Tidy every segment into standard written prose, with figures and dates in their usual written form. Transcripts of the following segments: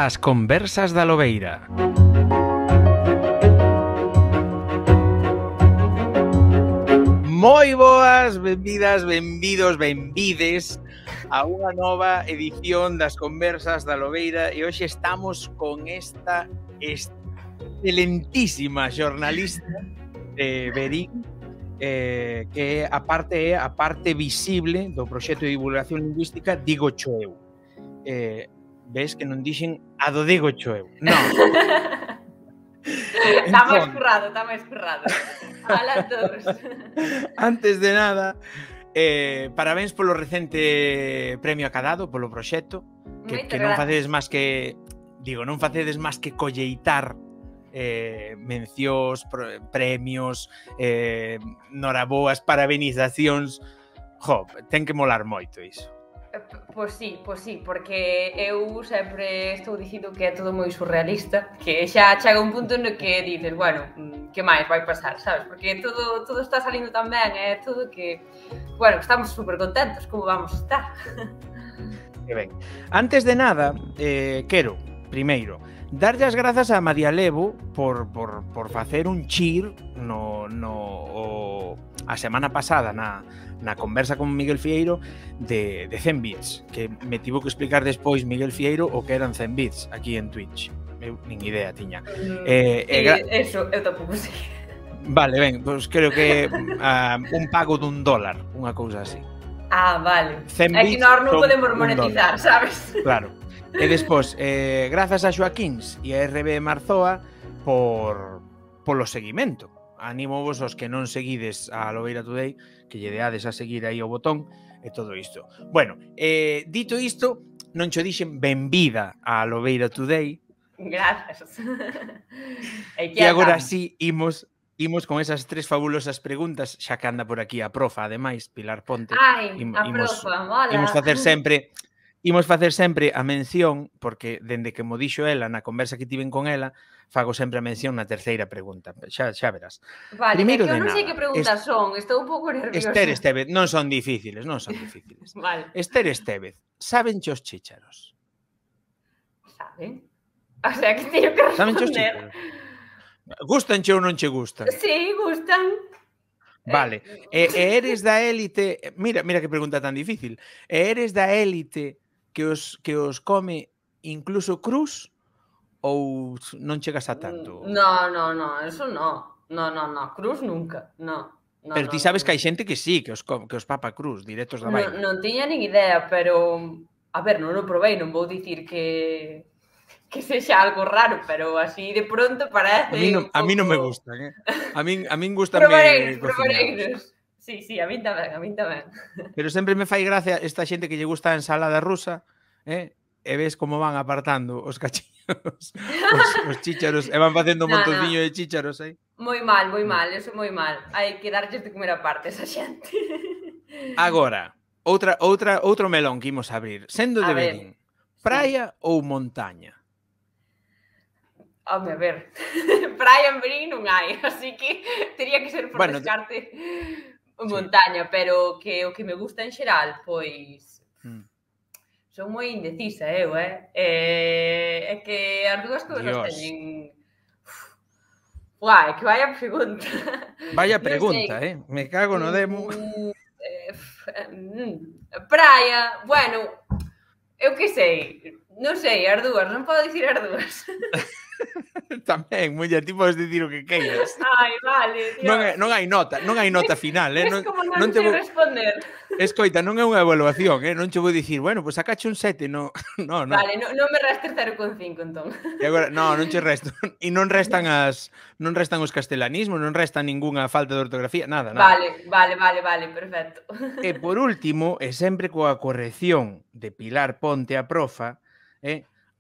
ás Conversas da Lobeira. Moi boas, benvidas, benvidos, benvides a unha nova edición das Conversas da Lobeira e hoxe estamos con esta excelentísima xornalista Verín, que a parte visible do proxecto de divulgación lingüística Digo Choeu. Ves que non dixen a do Digo Choeu. Non. Está máis currado. Hola a todos. Antes de nada, parabéns polo recente premio acadado, polo proxecto, que non facedes máis que non facedes máis que colleitar mencións, premios, noraboas, parabenizacións. Jo, ten que molar moito iso. Pois sí, porque eu sempre estou dicindo que é todo moi surrealista, que xa chega un punto no que dices, bueno, que máis vai pasar, sabes? Porque todo está salindo tan ben, é todo que, bueno, estamos super contentos, como vamos a estar? Que ben. Antes de nada, quero, primeiro, darlle as grazas a María Levo por facer un cheer a semana pasada na conversa con Miguel Fieiro de 100 bits, que me tivo que explicar despois Miguel Fieiro o que eran 100 bits aquí en Twitch. Eu nin idea tiña. Eso, eu tampouco sei. Vale, ben, pois creo que un pago dun dólar, unha cousa así. Ah, vale. É que nós non podemos monetizar, sabes? Claro. E despois, grazas a Xoaquíns e a RB Marzoa polo seguimento. Animo vos os que non seguides a Lobeira Today que lle deades a seguir aí o botón e todo isto. Bueno, dito isto, non cho dixen benvida a Lobeira Today. Grazas. E agora sí, imos con esas tres fabulosas preguntas, xa que anda por aquí a profa, ademais, Pilar Ponte. Ai, a profa, mola. Imos facer sempre a mención, porque dende que mo dixo ela na conversa que tiven con ela, fago sempre a mención na terceira pregunta. Xa verás. Vale, primeiro eu non sei que preguntas son, estou un pouco nerviosa. Esther Estevez, non son difíciles. Vale. Esther Estevez, saben os chícharos? Saben? O sea, que teño que responder. Saben os chícharos? Gústanche ou non che gustan? Sí, gustan. Vale. E eres da élite... Mira que pregunta tan difícil. E eres da élite que os come incluso crus ou non chegas a tanto? No, eso no. No, cruz nunca, no. Pero ti sabes que hai xente que sí, que os papa cruz, directos da vaina. Non tiña nin idea, pero... A ver, non o provei, non vou dicir que sexa algo raro, pero así de pronto parece... A mí non me gustan, A min gustan Probareinos. Sí, a min tamén. Pero sempre me fai gracia esta xente que lle gusta a ensalada rusa, e ves como van apartando os cachiños, os chícharos, e van facendo un montonciño de chícharos aí. Moi mal, eso moi mal. Hai que darlles de comer aparte esa xente. Agora, outro melón que imos abrir. Sendo de Verín, praia ou montaña? Home, a ver, praia en Verín non hai, así que tería que ser por descarte montaña, pero que o que me gusta en xeral, pois... Son moi indecisa, é que as dúas cousas teñen... Uai, que vaya pregunta. Vaya pregunta, me cago no demo. Praia, bueno, eu que sei, non sei, as dúas, non podo dicir as dúas. Tamén, muller, ti podes dicir o que queiras. Ai, vale, Dios. Non hai nota final, Es como non sei responder. Escoita, non é unha evaluación, non che vou dicir, bueno, pois sacache un 7, no. Vale, non me restes 0,5, entón. E agora, non che resto. E non restan os castelanismos, non resta ningunha falta de ortografía, nada. Vale, perfecto. E por último, e sempre coa corrección de Pilar Ponte a profa,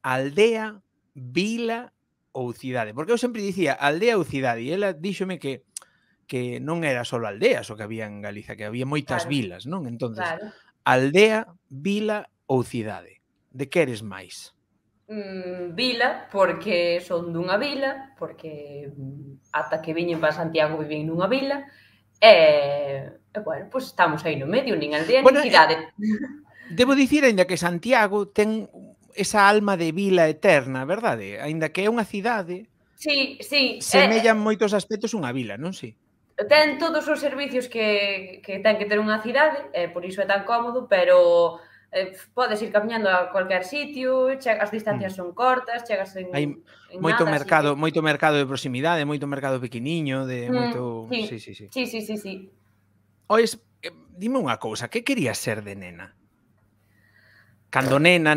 aldea, vila ou cidade. Porque eu sempre dicía aldea ou cidade, e ela díxome que non era só aldeas o que había en Galiza, que había moitas vilas, non? Entonces, aldea, vila ou cidade? De que eres máis? Vila, porque son dunha vila, porque ata que viñen para Santiago vivín nunha vila, e bueno, pois estamos aí no medio, nin aldea nin cidade. Debo dicir, ainda que Santiago ten esa alma de vila eterna, verdade? Aínda que é unha cidade, sí, sí. semella en moitos aspectos unha vila, non si? Ten todos os servicios que ten que ter unha cidade, por iso é tan cómodo, pero podes ir camiñando a cualquier sitio, as distancias son cortas, chegas en nada, así que... moito mercado de proximidade, moito mercado pequeniño, de moito... Sí, Sí, sí, sí. sí, sí, sí, sí. Ois, dime unha cousa, que querías ser de nena? Cando nena,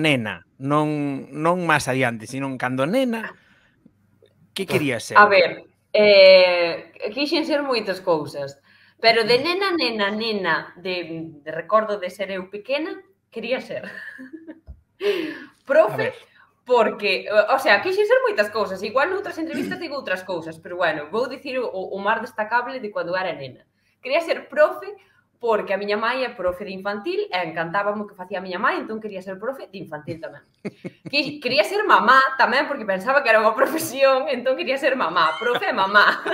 non máis adiante, sino cando nena, que querías ser? A ver, quixen ser moitas cousas, pero de nena, de recordo de ser eu pequena, quería ser profe, porque, o sea, quixen ser moitas cousas, igual noutras entrevistas digo outras cousas, pero bueno, vou dicir o máis destacable de cando era nena. Quería ser profe porque a miña mãe é profe de infantil e encantábame o que facía a miña mãe, entón quería ser profe de infantil tamén. Quería ser mamá tamén, porque pensaba que era unha profesión, entón quería ser mamá, profe e mamá.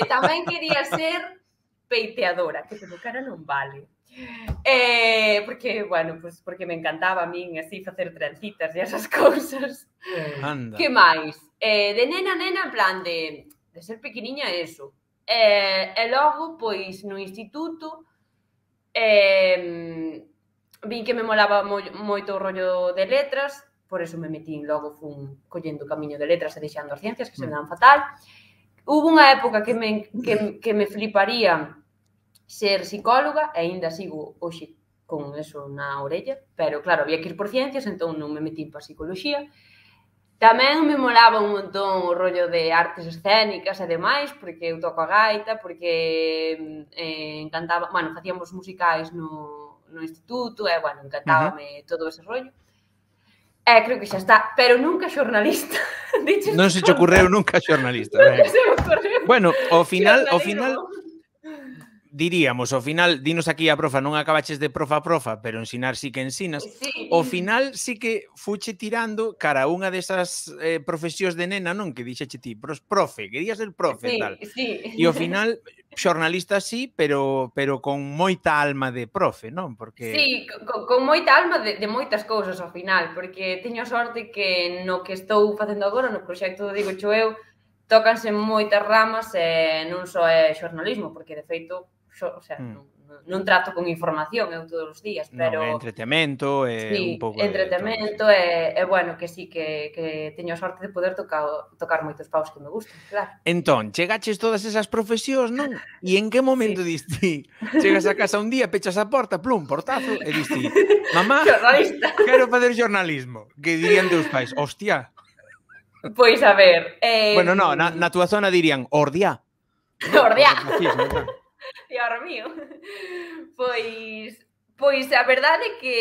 Tamén quería ser peiteadora, que pelo cara non vale. Porque, bueno, pues porque me encantaba a min así facer trencitas e esas cousas. Anda. Que máis? De nena, en plan de ser pequeniña, eso. E logo, pois, no instituto, vin que me molaba moito o rollo de letras, por eso me metín, logo fun collendo o camiño de letras e deixando as ciencias, que se me dan fatal. Hubo unha época que me fliparía ser psicóloga, e aínda sigo hoxe con eso na orella, pero claro, había que ir por ciencias, entón non me metín para psicoloxía. Tamén me molaba un montón o rollo de artes escénicas e demais, porque eu toco a gaita, porque encantaba, bueno, facíamos musicais no instituto, e, bueno, encantábame todo ese rollo. Creo que xa está, pero nunca xornalista. Non se che ocurreu nunca xornalista. Nunca se me ocurreu. Bueno, ao final, diríamos, ao final, dinos aquí a profa, non acabaches de profa, pero ensinar sí que ensinas. Sí. Ao final sí que fuche tirando cara a unha desas profesións de nena, non? Que dixeche ti, profe, querías ser profe, tal. Sí. E ao final, xornalista sí, pero con moita alma de profe, non? Porque... Sí, con moita alma de moitas cousas ao final, porque teño sorte que no que estou facendo agora, no proxecto Digo Cho Eu, tócanse moitas ramas e non só é xornalismo, porque de feito, o sea, non trato con información eu todos os días, pero... Non, é entretemento, é un pouco... entretemento, e bueno, que sí, que teño a sorte de poder tocar moitos paus que me gustan, claro. Entón, chegaches todas esas profesións, non? E en que momento diste? Chegas a casa un día, pechas a porta, plum, portazo, e diste, mamá, quero fazer xornalismo. Que dirían teus pais, hostia. Pois a ver... Bueno, no, na túa zona dirían, ordiá. Ordiá. Dios mío. Pois a verdade é que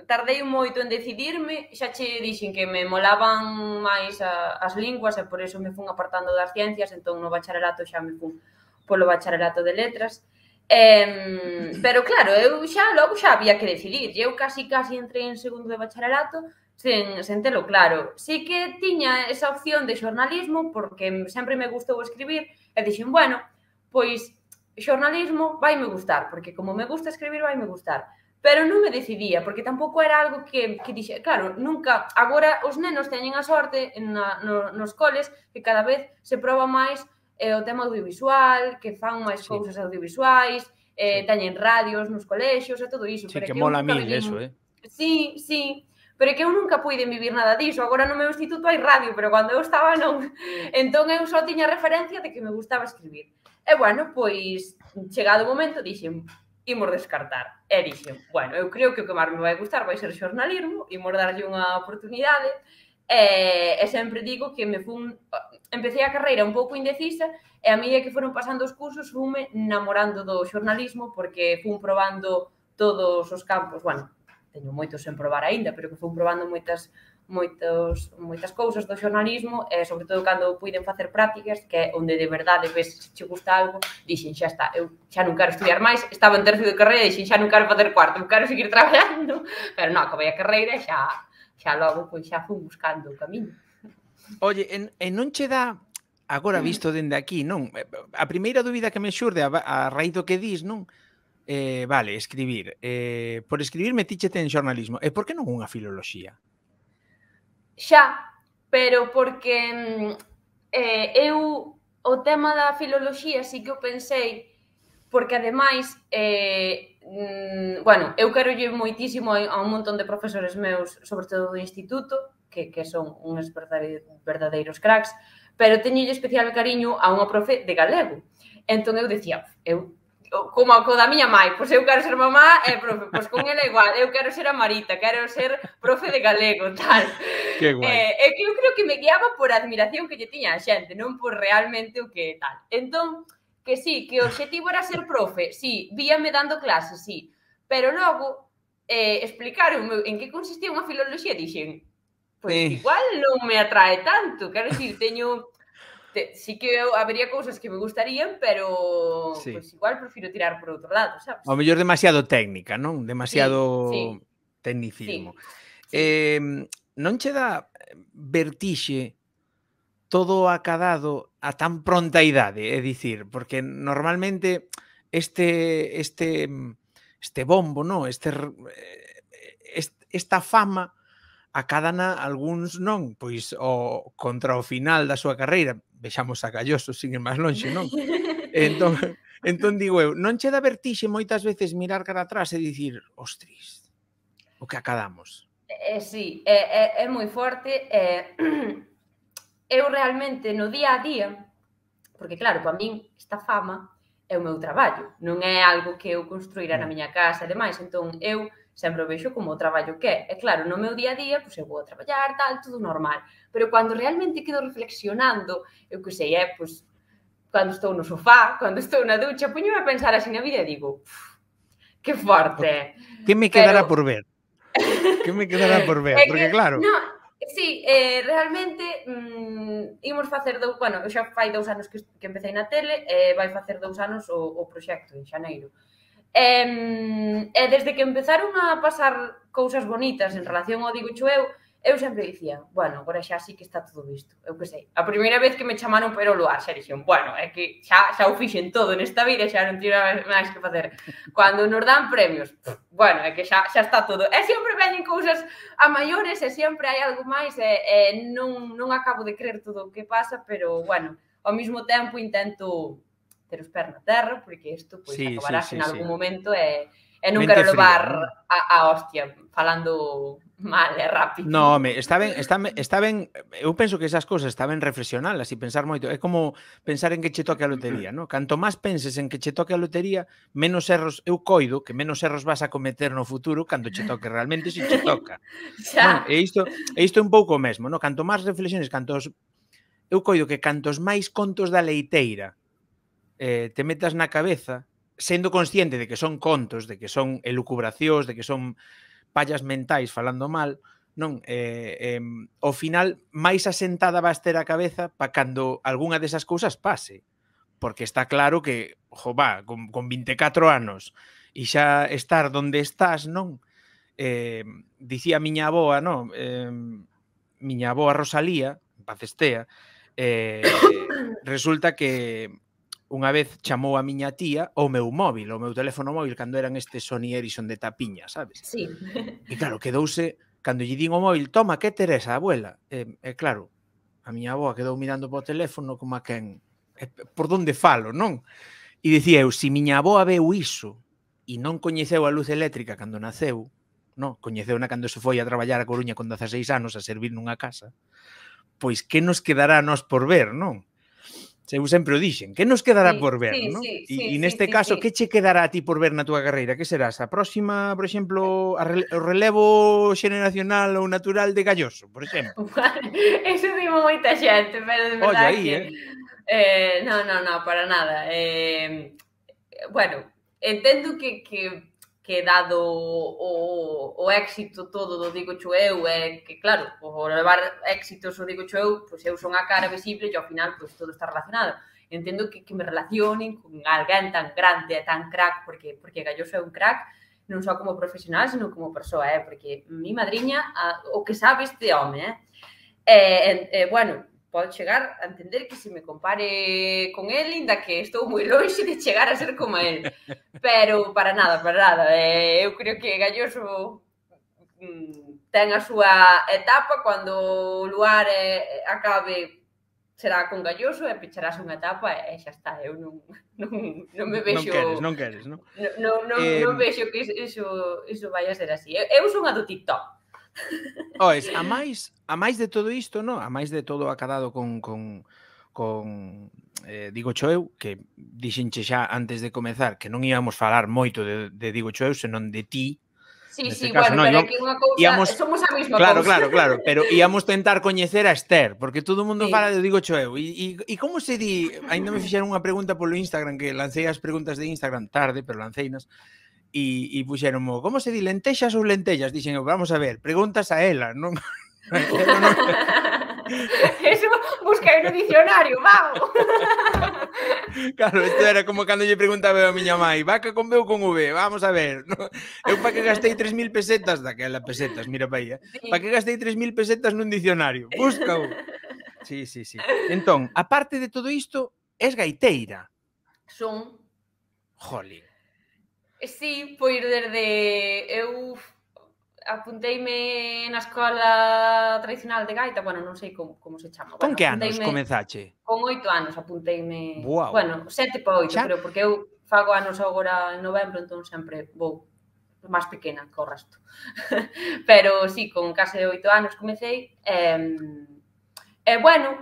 tardei moito en decidirme, xa che dixen que me molaban máis as linguas e por eso me fun apartando das ciencias, entón no bacharelato xa me fun polo bacharelato de letras. Pero claro, eu logo xa había que decidir, eu casi entrei en segundo de bacharelato sen telo claro. Sí que tiña esa opción de xornalismo porque sempre me gustou escribir e dixen, bueno, pois xornalismo vaime gustar, porque como me gusta escribir vaime gustar, pero non me decidía, porque tampouco era algo que dixe, claro, nunca, agora os nenos teñen a sorte nos coles que cada vez se proba máis o tema audiovisual, que fan máis cousas audiovisuais, teñen radios nos colexios e todo iso. Sí, que mola mil eso, Sí, pero que eu nunca puiden vivir nada diso. Agora no meu instituto hai radio, pero cando eu estaba non. Entón eu só tiña referencia de que me gustaba escribir. E, bueno, pois, chegado o momento, dixen, imos descartar. E dixen, bueno, eu creo que o que máis me vai gustar vai ser xornalismo, imos darlle unha oportunidade. E sempre digo que empecé a carreira un pouco indecisa e a medida que foron pasando os cursos funme namorando do xornalismo porque fun probando todos os campos, bueno, teño moitos sen probar aínda, pero que fun probando moitas cousas do xornalismo e, sobre todo, cando puiden facer prácticas, que é onde de verdade ves se che gusta algo, dixen, xa está, eu xa non quero estudiar máis, estaba en terceiro de carreira e dixen, xa non quero facer cuarto, quero seguir traballando, pero non, acabei a carreira e xa logo, pois xa fun buscando o camiño. Oye, e non che dá, agora visto dende aquí, non? A primeira dúbida que me xurde a raíz do que dis, non? Vale, escribir. Por escribir metíchete en xornalismo. E por que non unha filoloxía? Xa, pero porque eu o tema da filoloxía sí que o pensei, porque ademais, bueno, eu querolle moitísimo a un montón de profesores meus, sobre todo do instituto, que son uns verdadeiros cracks, pero teñolle especial cariño a unha profe de galego. Entón eu decía, como a da miña mãe, pois eu quero ser mamá e profe, pois con ela igual, eu quero ser a Marita, quero ser profe de galego, tal. Que guai. E que eu creo que me guiaba por a admiración que lle tiña a xente, non por realmente o que tal. Entón, que sí, que o obxectivo era ser profe, sí, víame dando clases, sí, pero logo explicaron en que consistía unha filoloxía e dixen, pois igual non me atrae tanto, quero dicir, teño... Sí que habería cousas que me gustarían, pero pues igual prefiro tirar por outro lado, sabes? Ao mellor demasiado técnica, non? Demasiado tecnicismo. Non che dá vertixe todo acadado a tan pronta idade, é dicir, porque normalmente este bombo, non? Esta fama acádana algúns non, pois contra o final da súa carreira, vexamos a Galloso, sin ir máis lonxe, non? Entón digo eu, non che dá vertixe moitas veces mirar cara atrás e dicir, ostris, o que acadamos? Sí, é moi forte. Eu realmente no día a día, porque claro, para min esta fama é o meu traballo, non é algo que eu construíra na miña casa e demais, entón eu sempre o vexo como o traballo que é. E claro, no meu día a día, pois eu vou a traballar, tal, tudo normal. Pero cando realmente quedo reflexionando, eu que sei, pois, cando estou no sofá, cando estou na ducha, poño-me a pensar así na vida e digo, que forte. Que me quedará por ver? Que me quedará por ver? Porque claro... Sí, realmente imos facer bueno, eu xa fai 2 anos que empecé na tele e vai facer 2 anos o proxecto en xaneiro. E desde que empezaron a pasar cousas bonitas en relación ao Digo eu sempre dicía, bueno, agora xa sí que está todo visto. Eu que sei, a primeira vez que me chamaron para o luar, xa dixen, bueno, é que xa o fixen todo nesta vida, xa non tiro máis que facer. Cando nos dan premios, bueno, é que xa está todo. E sempre veñen cousas a maiores e sempre hai algo máis e non acabo de creer todo o que pasa, pero, bueno, ao mesmo tempo intento ter os pés na terra, porque isto acabará en algún momento e non quero levar a hostia falando mal e rápido. No, home, está ben, eu penso que esas cousas está ben reflexionalas e pensar moito. É como pensar en que che toque a lotería, non? Canto máis penses en que che toque a lotería, menos erros, eu coido que menos erros vas a cometer no futuro cando che toque realmente se che toca. Non? E isto é un pouco o mesmo, non? Canto máis reflexiones, eu coido que cantos máis contos da leiteira te metas na cabeza, sendo consciente de que son contos, de que son elucubracións, de que son pallas mentais falando mal, non? Ao final, máis asentada vas ter a cabeza para cando algunha desas cousas pase. Porque está claro que, con 24 anos e xa estar donde estás, non? Dicía a miña avoa, non? Miña avoa Rosalía, en paz estea, resulta que unha vez chamou a miña tía o meu móvil, o meu teléfono móvil, cando eran estes Sony Ericsson de tapiña, sabes? Sí. E claro, quedouse, cando lle din o móvil, toma, que Teresa, abuela? E claro, a miña avoa quedou mirando po teléfono como a quen, por donde falo, non? E dicía eu, se miña avoa veu iso e non coñeceu a luz eléctrica cando naceu, non? Coñeceuna cando se foi a traballar a Coruña con 16 anos a servir nunha casa, pois que nos quedará a nós por ver, non? Eu sempre o dixen, que nos quedará por ver, non? E neste caso, que che quedará a ti por ver na túa carreira? Que serás? A próxima, por exemplo, o relevo xeneracional ou natural de Galloso, por exemplo? Eso dimo moita xente, pero de verdade que... Non, para nada. Bueno, entendo que dado o éxito todo do Digo eu, é que, claro, o levar éxitos o Digo eu, pois eu son a cara visible e ao final pois todo está relacionado. Entendo que me relacionen con alguén tan grande e tan crack, porque Galloso é un crack, non só como profesional, sino como persoa, porque mi madriña, o que sabe este home, bueno, pode chegar a entender que se me compare con el, inda que estou moi lonxe de chegar a ser como el. Pero para nada, para nada. Eu creo que Galloso ten a súa etapa, cando o lugar acabe será con Galloso e pecharás unha etapa e xa está. Eu non me vexo... Non queres, non? Non vexo que iso vai a ser así. Eu son a do TikTok. Oes, a máis de todo isto, non? A máis de todo acadado con Digo eu, que dixenche xa antes de comezar que non íamos falar moito de Digo eu, senón de ti. Sí, bueno, pero aquí unha cousa, somos a mesma cousa. Claro, pero íamos tentar coñecer a Esther, porque todo o mundo fala de Digo eu. E como se di, ainda me fixeron unha pregunta polo Instagram, que lancei as preguntas de Instagram tarde, pero lanceinas, e puxeron, como se di, lentexas ou lentellas? Dixen, vamos a ver, preguntas a ela, non? Eso busquei no dicionario, vamos. Claro, isto era como cando lle preguntaba a miña mãe, vaca con B ou con V, vamos a ver. Eu pa que gastei 3.000 pesetas, daquela pesetas, mira pa aí, pa que gastei 3.000 pesetas nun dicionario, búscao. Sí. Entón, aparte de todo isto, es gaiteira. Son. Jolín. Sí, pois desde... Eu apunteime na escola tradicional de gaita, bueno, non sei como se chama. Con que anos comezache? Con 8 anos apunteime, wow. Bueno, 7 para 8, creo, porque eu fago anos agora en novembro, entón sempre vou máis pequena que o resto. Pero sí, con case 8 anos comecei, bueno,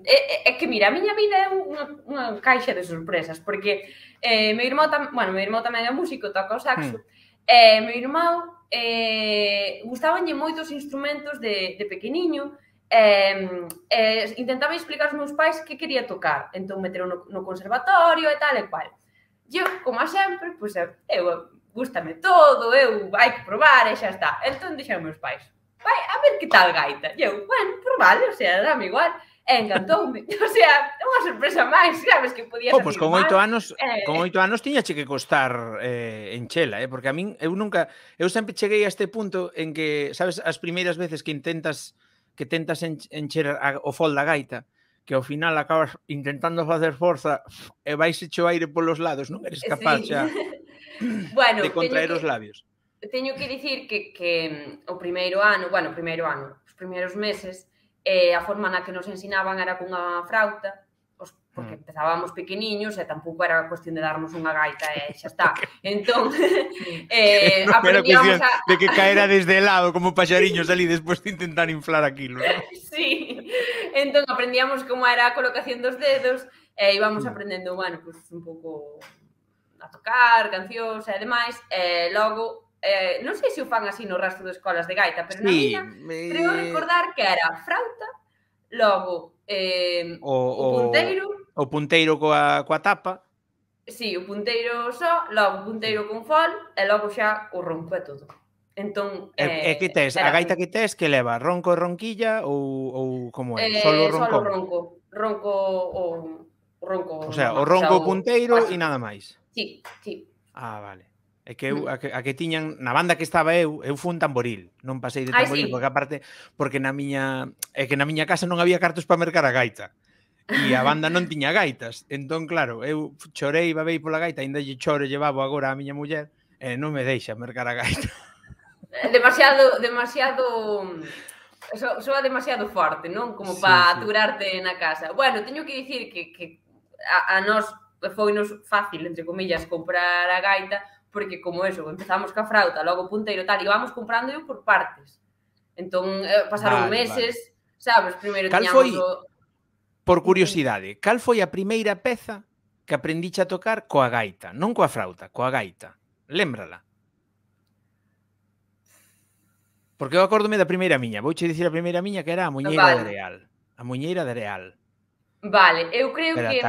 é que mira, a miña vida é unha caixa de sorpresas, porque meu irmão tamén é músico, toca o saxo, meu irmão gustabanlle moitos instrumentos de pequeniño, intentaba explicar aos meus pais que quería tocar, entón meteron no conservatorio e tal e cual. Eu, como a sempre, pois eu gústame todo, hai que probar e xa está. Entón dixeron meus pais, vai, a ver que tal gaita. E eu, bueno, por vale, o sea, dame igual. E encantoume. O sea, unha sorpresa máis, sabes, que podía salir pois con 8 anos, con 8 anos tiñache que costar enchela, porque a min, eu sempre cheguei a este punto en que, sabes, as primeiras veces que tentas encher o fol da gaita, que ao final acabas intentando facer forza e vais hecho aire polos lados, non eres capaz xa de contraer os labios. Teño que dicir que o primeiro ano, os primeiros meses, a forma na que nos ensinaban era cunha frauta, porque empezábamos pequeniños e tampouco era cuestión de darnos unha gaita e xa está. Entón, aprendíamos de que caera desde el lado como paxariños ali despois de intentar inflar aquilo, ¿no? Sí, entón aprendíamos como era a colocación dos dedos e íbamos aprendendo, bueno, pues un pouco a tocar, cancións e demais, e logo non sei se o fan así no resto de escolas de gaita, pero na miña creo recordar que era frauta, logo o punteiro... O punteiro coa tapa. Sí, o punteiro só, logo o punteiro con fol, e logo xa o ronco e todo. Entón... E que tes? A gaita que tes que leva? Ronco e ronquilla ou como é? Solo roncón? Solo ronco. Ronco... O sea, o ronco, o punteiro e nada máis. Sí. Ah, vale. É que eu, a que tiñan, na banda que estaba eu fui un tamboril, non pasei de tamboril, porque aparte, porque na miña casa non había cartos para mercar a gaita, e a banda non tiña gaitas, entón claro, eu chorei, babei pola gaita, ainda lle choro, llevabo agora a miña muller, e non me deixa mercar a gaita. Demasiado, soa demasiado forte, non? Como para aturarte na casa. Bueno, teño que dicir que a nós foinos fácil, entre comillas, comprar a gaita, porque como eso, empezamos ca frauta, logo punteiro tal, íbamos comprando eu por partes. Entón, pasaron meses, sabes, primeiro tiñamos por curiosidade, cal foi a primeira peza que aprendiche a tocar coa gaita? Non coa frauta, coa gaita. Lémbrala. Porque eu acórdome da primeira miña, vouche dicir a primeira miña que era a Muñeira de Areal. A Muñeira de Areal. Vale, eu creo que...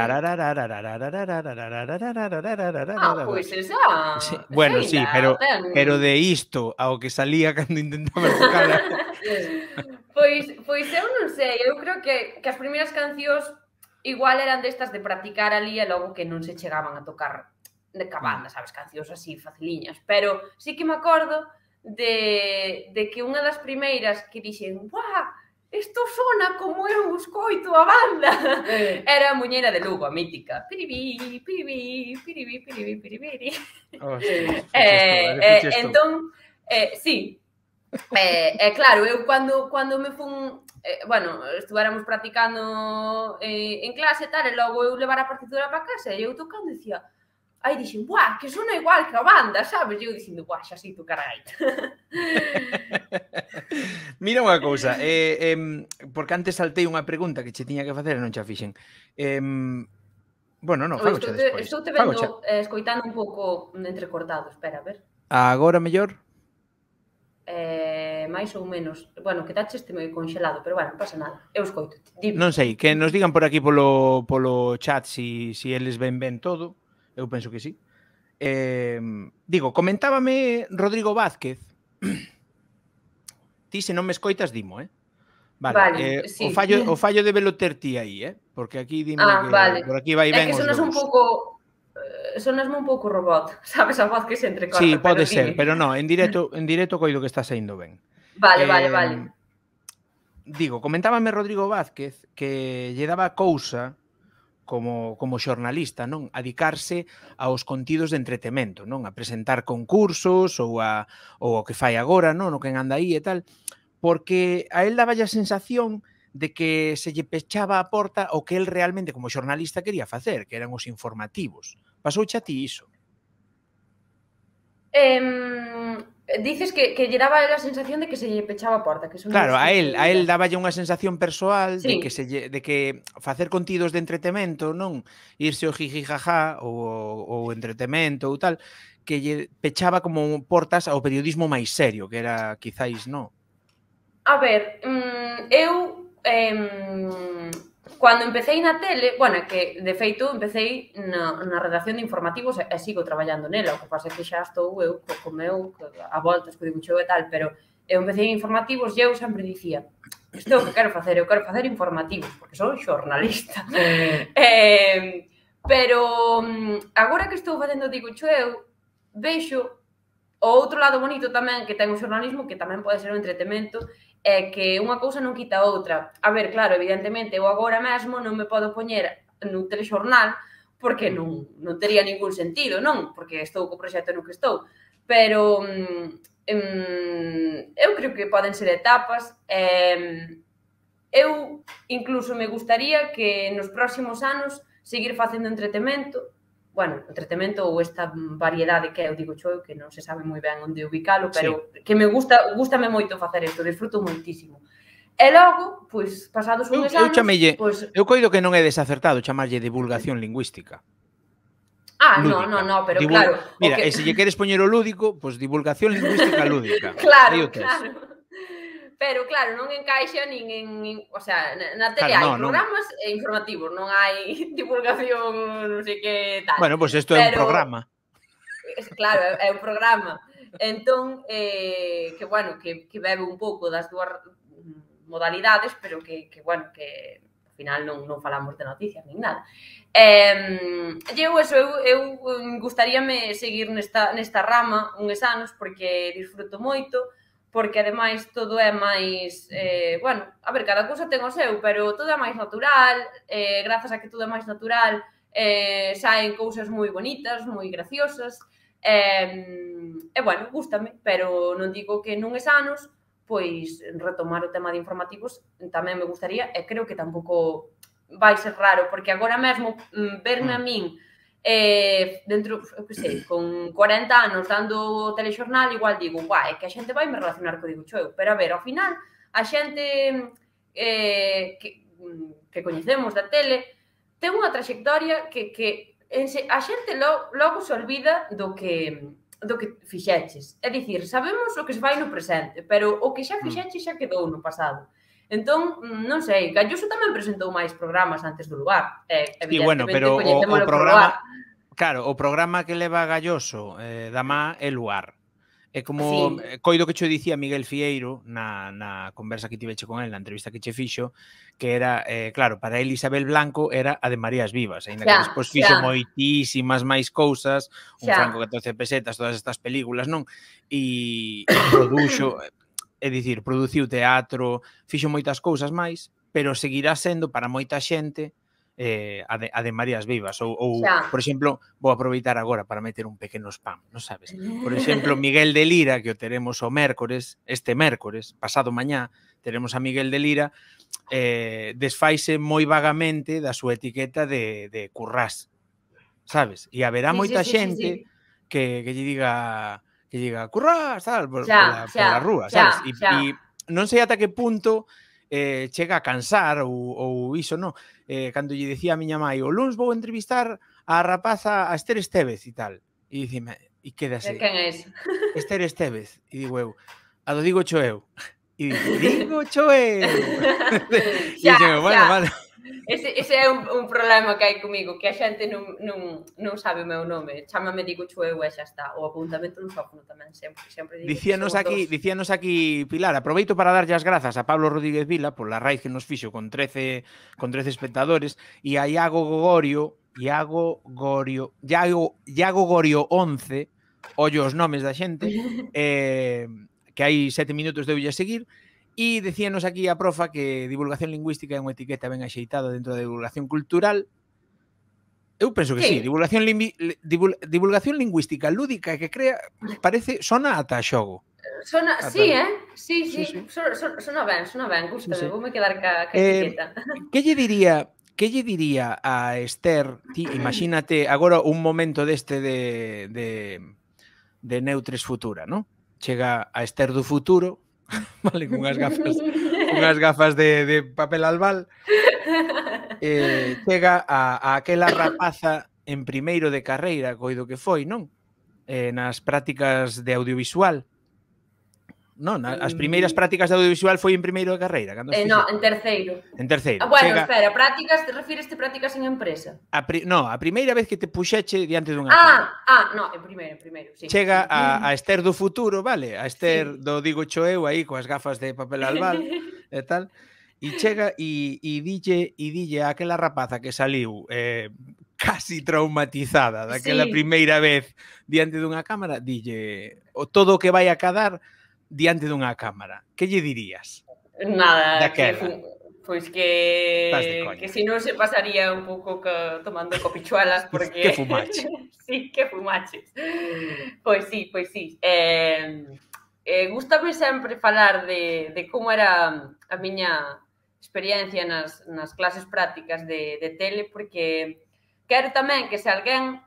pois esa... Bueno, sí, pero de isto ao que salía cando intentaba tocar... Pois eu non sei, eu creo que as primeiras cancións igual eran destas de practicar ali e logo que non se chegaban a tocar de cabanda, sabes, cancións así faciliñas, pero sí que me acordo de que unha das primeiras que dixen, ¡buah! isto sona como eu escoito a banda. Era a muñeira de Lugo, a mítica. Piribí, piribí, piribí, piribí, piribí. Entón, sí. Claro, eu cando me fun... Bueno, estuvéramos practicando en clase e tal, e logo eu levar a partitura para casa, e eu tocando e dicía... Aí dixen, buah, que sona igual que a banda, sabes? E eu dicindo, buah, xa sei tocar a gaita. Mira unha cousa, porque antes saltei unha pregunta que che tiña que facer e non xa fixen. Bueno, non, fagocha despois. Estou te vendo, escoitando un pouco entrecortado, espera, a ver. Agora mellor? máis ou menos. Bueno, quedache este meio conxelado, pero bueno, non pasa nada. Eu escoito. Non sei, que nos digan por aquí polo chat si eles ven todo. Eu penso que sí. Digo, comentábame Rodrigo Vázquez. Ti se non me escoitas, dimo, Vale, sí. O fallo de velo ter ti aí, Porque aquí dime que vale. Por aquí vai ben os dous. É que sonasme un pouco robot, sabes, a voz que se entrecorta. Sí, pode ser, pero non, en directo coido que está saindo ben. Vale. Digo, comentábame Rodrigo Vázquez que lle daba cousa como xornalista, non? A dedicarse aos contidos de entretemento, non? A presentar concursos ou o que fai agora, non? O que anda aí e tal, porque a él daba a sensación de que se lle pechaba a porta o que él realmente como xornalista quería facer, que eran os informativos. Pasouche a ti iso? Dices que lle daba a sensación de que se lle pechaba a porta. Que claro, a él daballe unha sensación persoal sí. de que facer contidos de entretemento, non irse o jiji jaja ou entretemento ou tal, que lle pechaba como portas ao periodismo máis serio, que era quizáis, non? A ver, eu cando empecéi na tele, bueno, que de feito empecéi na redacción de informativos e sigo traballando nela, o que pasa é que xa estou eu co meu a voltas, co dibuixo e tal, pero eu empecéi en informativos e eu sempre dicía isto é o que quero facer, eu quero facer informativos, porque son xornalista. Pero agora que estou facendo dibuixo eu vexo o outro lado bonito tamén que ten o xornalismo, que tamén pode ser o entretemento, é que unha cousa non quita a outra. A ver, claro, evidentemente, eu agora mesmo non me podo poñer no telexornal porque non tería ningún sentido, non? Porque estou co proxecto no que estou. Pero eu creo que poden ser etapas. Eu incluso me gustaría que nos próximos anos seguir facendo entretemento, bueno, entretemento ou esta variedade que eu digo eu, que non se sabe moi ben onde ubicalo, pero sí. Que me gustame moito facer isto, disfruto moitísimo. E logo, pois, pasados uns anos... Eu coido que non é desacertado chamarlle divulgación lingüística. No, pero claro... Mira, e se lle queres poñer o lúdico, pois divulgación lingüística lúdica. Claro. Pero, claro, non encaixa nin en... O sea, na tele hai programas informativos, non hai divulgación, non sei que tal. Bueno, pois isto é un programa. Claro, é un programa. Entón, que, bueno, que bebe un pouco das dúas modalidades, pero que bueno, que ao final non falamos de noticias nin nada. Eu gustaríame seguir nesta rama uns anos, porque disfruto moito, porque ademais todo é máis, bueno, a ver, cada cousa ten o seu, pero todo é máis natural, grazas a que todo é máis natural, saen cousas moi bonitas, moi graciosas, e bueno, gústame, pero non digo que nuns anos, pois, retomar o tema de informativos tamén me gustaría, e creo que tampouco vai ser raro, porque agora mesmo verme a min dentro, eu que sei, con 40 anos dando telexornal, igual digo, é que a xente vai me relacionar co dibuixo eu, pero a ver, ao final, a xente que coñecemos da tele ten unha traxectoria que a xente logo se olvida do que fixeches. É dicir, sabemos o que se fai no presente, pero o que xa fixeches xa quedou no pasado. Entón, non sei, Galloso tamén presentou máis programas antes do Luar. Evidentemente, coñecémolo por Luar. Claro, o programa que leva Galloso da má é Luar. É como, coido que che dicía Miguel Fieiro na conversa que tiveche con él, na entrevista que che fixo, que era, claro, para él Isabel Blanco era a de Marías Vivas, ainda que despois fixo moitísimas máis cousas, un Franco 14 pesetas, todas estas películas, non? E produxo... é dicir, produciu teatro, fixo moitas cousas máis, pero seguirá sendo para moita xente a de Marías Vivas. Ou por exemplo, vou aproveitar agora para meter un pequeno spam, non sabes? Por exemplo, Miguel de Lira, que o teremos o mércores, este mércores, pasado mañá, teremos a Miguel de Lira, desfaise moi vagamente da súa etiqueta de currás, sabes? E haberá moita xente que lle diga currás, tal, pola rúa, sabes? E non sei ata que punto chega a cansar ou iso, non? Cando lle dicía a miña mai, o luns vou entrevistar a rapaza, a Esther Estévez e tal. E dicime, e quedase... Quen é ese? Esther Estévez. E digo eu, a do digo cho eu. E digo cho eu. E dixen, bueno, vale. Ese é un problema que hai comigo, que a xente non sabe o meu nome. Chámame digo cho eu e xa está. O apuntamento no sófono tamén, sempre digo. Dicíanos aquí, Pilar, aproveito para darlle as grazas a Pablo Rodríguez Vila por la raíz que nos fixo con 13 espectadores e a Iago Gorio 11, ollo os nomes da xente, que hai 7 minutos deulle a seguir. E decíanos aquí a profa que divulgación lingüística é unha etiqueta ben axeitada dentro da divulgación cultural. Eu penso que sí, divulgación lingüística lúdica que crea, sona ata xogo. Sona, sí, sí, sona ben, gústame, voume quedar ca etiqueta. Que lle diría a Esther, ti imagínate agora un momento deste de Neutres Futura, non? Chega a Esther do futuro, vale, con unhas gafas de papel albal, chega a aquela rapaza en primeiro de carreira, coido que foi, non? Nas prácticas de audiovisual. Non, as primeiras prácticas de audiovisual foi en primeiro de carreira? Non, en terceiro. En terceiro. Bueno, espera, prácticas, te refires a prácticas en empresa? Non, a primeira vez que te puxeche diante dunha cámara. Non, en primeiro, sí. Chega a Esther do futuro, vale? A Esther do digo cho eu aí, coas gafas de papel albal e tal, e chega e dille a aquela rapaza que saliu casi traumatizada daquela primeira vez diante dunha cámara, dille todo o que vai a cadar diante dunha cámara. Que lle dirías? Nada, pois que se non se pasaría un pouco tomando copichuelas porque... Que fumache. Sí, que fumaches. Pois sí. Gústame sempre falar de como era a miña experiencia nas clases prácticas de tele, porque quero tamén que se alguén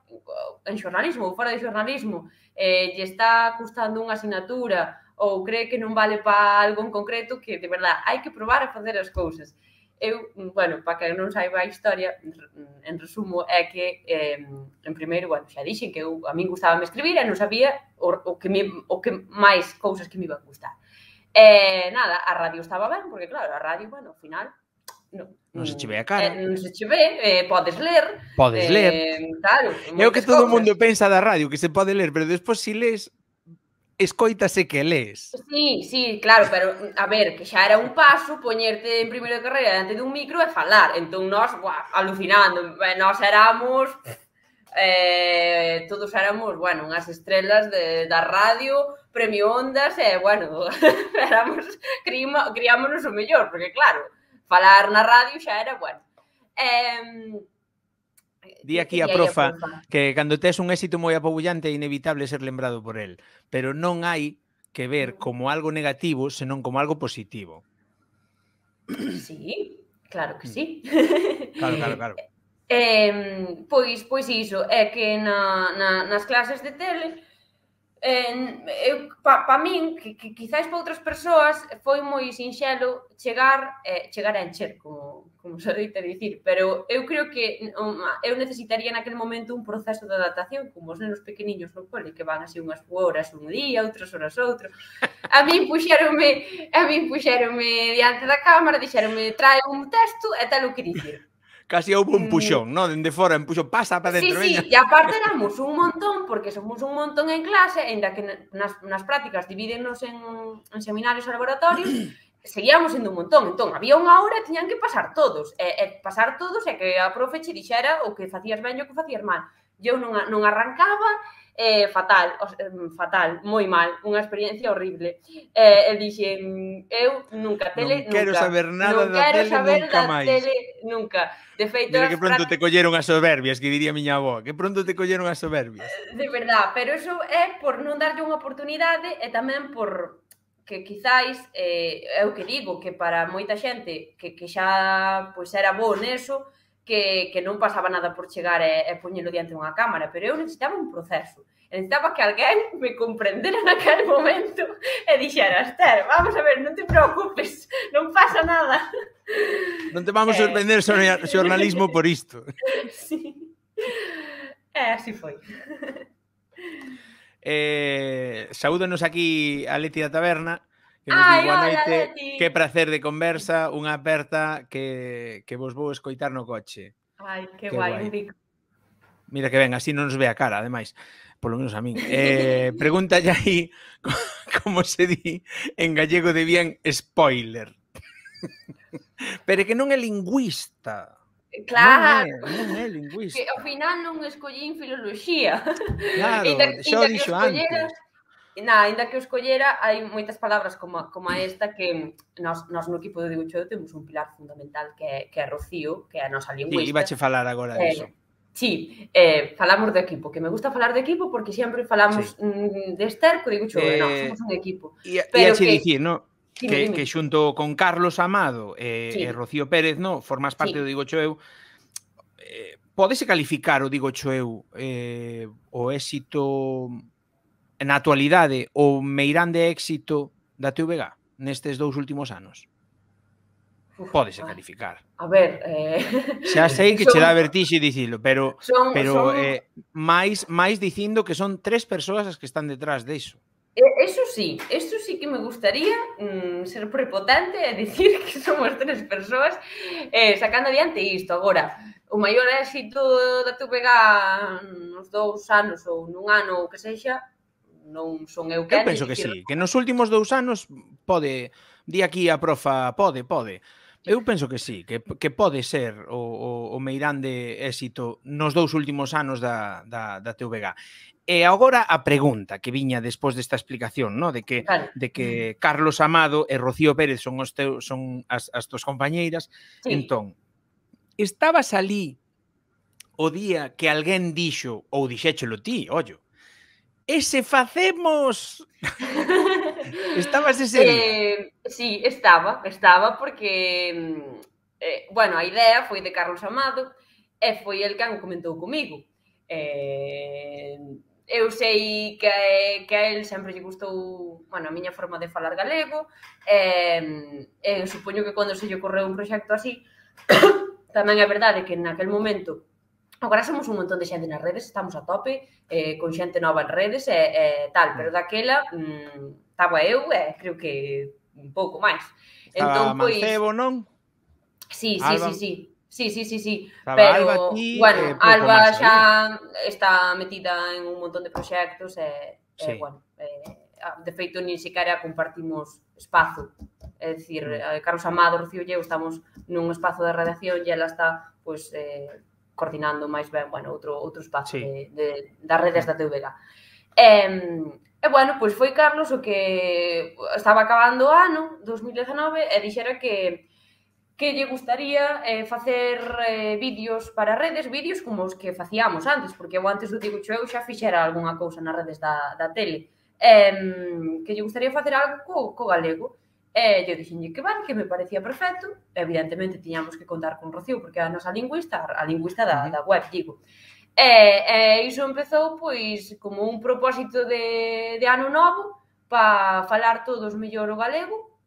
en xornalismo ou fora de xornalismo lle está custando unha asignatura ou cree que non vale para algo en concreto, que de verdade hai que probar a facer as cousas. Eu, bueno, para que non saiba a historia, en resumo, é que en primeiro, bueno, xa dixen que a min gustaba escribir e non sabía o que máis cousas que me iban gustar. Nada, a radio estaba ben, porque claro, a radio, bueno, ao final non se che ve a cara. Non se che ve, podes ler. Podes ler. Claro. É o que todo o mundo pensa da radio, que se pode ler, pero despois si lees, escoítase que lees. Sí, claro, pero a ver, que xa era un paso poñerte en primeiro de carreira diante dun micro e falar. Entón nós, alucinando, nós éramos todos éramos, bueno, unhas estrelas da radio, premio Ondas e, bueno, criámonos o mellor, porque claro, falar na radio xa era, bueno. Di aquí a profa que cando tes un éxito moi apabullante é inevitable ser lembrado por el, pero non hai que ver como algo negativo, senón como algo positivo. Sí, claro que sí. Claro. Pois iso, é que nas clases de tele, para min, que quizáis para outras persoas, foi moi sinxelo chegar a encher, como se deita dicir, pero eu creo que eu necesitaría naquele momento un proceso de adaptación, como os nenos pequeniños no cole, que van así unhas horas un día, outras horas outro. A min puxéronme diante da cámara, dixéronme, trae un texto e tal o que dicir. Casi houve un puxón, non? Dende fora, un puxón, pasa para dentro, veña. Sí, e aparte éramos un montón, porque somos un montón en clase, ainda que nas prácticas divídennos en seminarios e laboratorios, seguíamos sendo un montón. Entón, había unha hora e tiñan que pasar todos. E pasar todos é que a profe che dixera o que facías ben e o que facías mal. eu non arrancaba, fatal, moi mal, unha experiencia horrible. E dixen, eu nunca tele, non quero saber nada non da quero tele saber nunca da máis. tele nunca. De feito, Mira que pronto te colleron as soberbias, que diría miña avó, que pronto te colleron as soberbias. De verdad, pero eso é por non darlle unha oportunidade e tamén por que quizáis, é o que digo, que para moita xente que xa pois era bo neso, que non pasaba nada por chegar e poñelo diante dunha cámara, pero eu necesitaba un proceso. Necesitaba que alguén me comprendera naquele momento e dixera, Esther, vamos a ver, non te preocupes, non pasa nada. Non te vamos sorprender xornalismo por isto. Sí. Así foi. Saúdanos aquí a Leti da Taberna, que nos di boa noite, que prazer de conversa, unha aperta que vos vou escoitar no coche. Ai, que guai, un bico. Mira que ben, así non nos ve a cara, ademais, polo menos a min. Pregúntalle aí como se di en gallego de bien spoiler. Pero que non é lingüista. Claro. Non é lingüista. Que ao final non escollín filoloxía. Claro, xa o dixo antes. Ainda que o escollera, hai moitas palabras como esta que nos no equipo de Digo Cheo temos un pilar fundamental que é Rocío, que é a nosa lingüista. Sí, ibache falar agora diso. Sí, falamos do equipo, que me gusta falar do equipo porque sempre falamos de Esther, co Digo Cheo, somos un equipo. Pero que dicir, no? Que xunto con Carlos Amado e Rocío Pérez, no, formas parte do Digo Cheo, pódese calificar o Digo Cheo o éxito na actualidade, o meirande éxito da TVG nestes 2 últimos anos? Pódese calificar. A ver... Xa sei que che dá vertixe dicilo, pero máis dicindo que son 3 persoas as que están detrás diso. Eso sí que me gustaría ser prepotente e dicir que somos 3 persoas sacando adiante isto. Agora, o maior éxito da TVG nos 2 anos ou nun ano ou que sexa, non son eu quen. Eu penso que sí, que nos últimos 2 anos pode, di aquí a profa, pode. Eu penso que sí, que pode ser o meirande éxito nos 2 últimos anos da TVG. E agora a pregunta que viña despois desta explicación, no? de que Carlos Amado e Rocío Pérez son as túas compañeiras. Entón, estabas ali o día que alguén dixo, ou dixéchelo ti, ollo, e se facemos... Estabas ese día? Sí, estaba porque, bueno, a idea foi de Carlos Amado e foi el quen o comentou comigo. Eu sei que a el sempre lle gustou, bueno, a miña forma de falar galego, supoño que cando se lle ocorreu un proxecto así, tamén é verdade que naquel momento, agora somos un montón de xente nas redes, estamos a tope, con xente nova en redes e tal, pero daquela estaba eu e creo que un pouco máis. Estaba Mancebo, non? Sí. Pero, bueno, Alba xa está metida en un montón de proxectos e, bueno, de feito, nin siquiera compartimos espazo. É dicir, Carlos Amado, Rocío e eu estamos nun espazo de redacción e ela está, pois, coordinando máis ben, bueno, outro espazo das redes da TVG. E, bueno, pois foi Carlos o que estaba acabando o ano, 2019, e dixera que lle gustaría facer vídeos para redes, vídeos como os que facíamos antes, porque eu antes do Digo Cheo xa fixera algunha cousa nas redes da tele, que lle gustaría facer algo co galego. E eu dixenlle que vale, que me parecía perfecto, evidentemente tiñamos que contar con Rocío, porque é a nosa lingüista, a lingüista da web, digo. E iso empezou, pois, como un propósito de ano novo, para falar todos mellor o galego,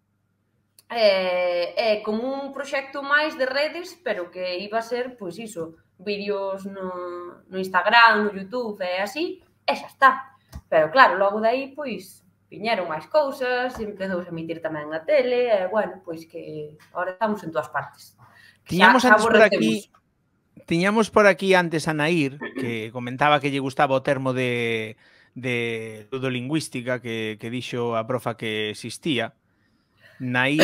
como un proxecto máis de redes, pero que iba a ser, pois iso, vídeos no Instagram, no YouTube e así, e xa está. Pero claro, logo de aí, pois, viñeron máis cousas, empezou a emitir tamén na tele, e bueno, pois que agora estamos en todas partes. Tiñamos por aquí antes a Nair, que comentaba que lle gustaba o termo de ludolingüística que dixo a profa que existía. Nair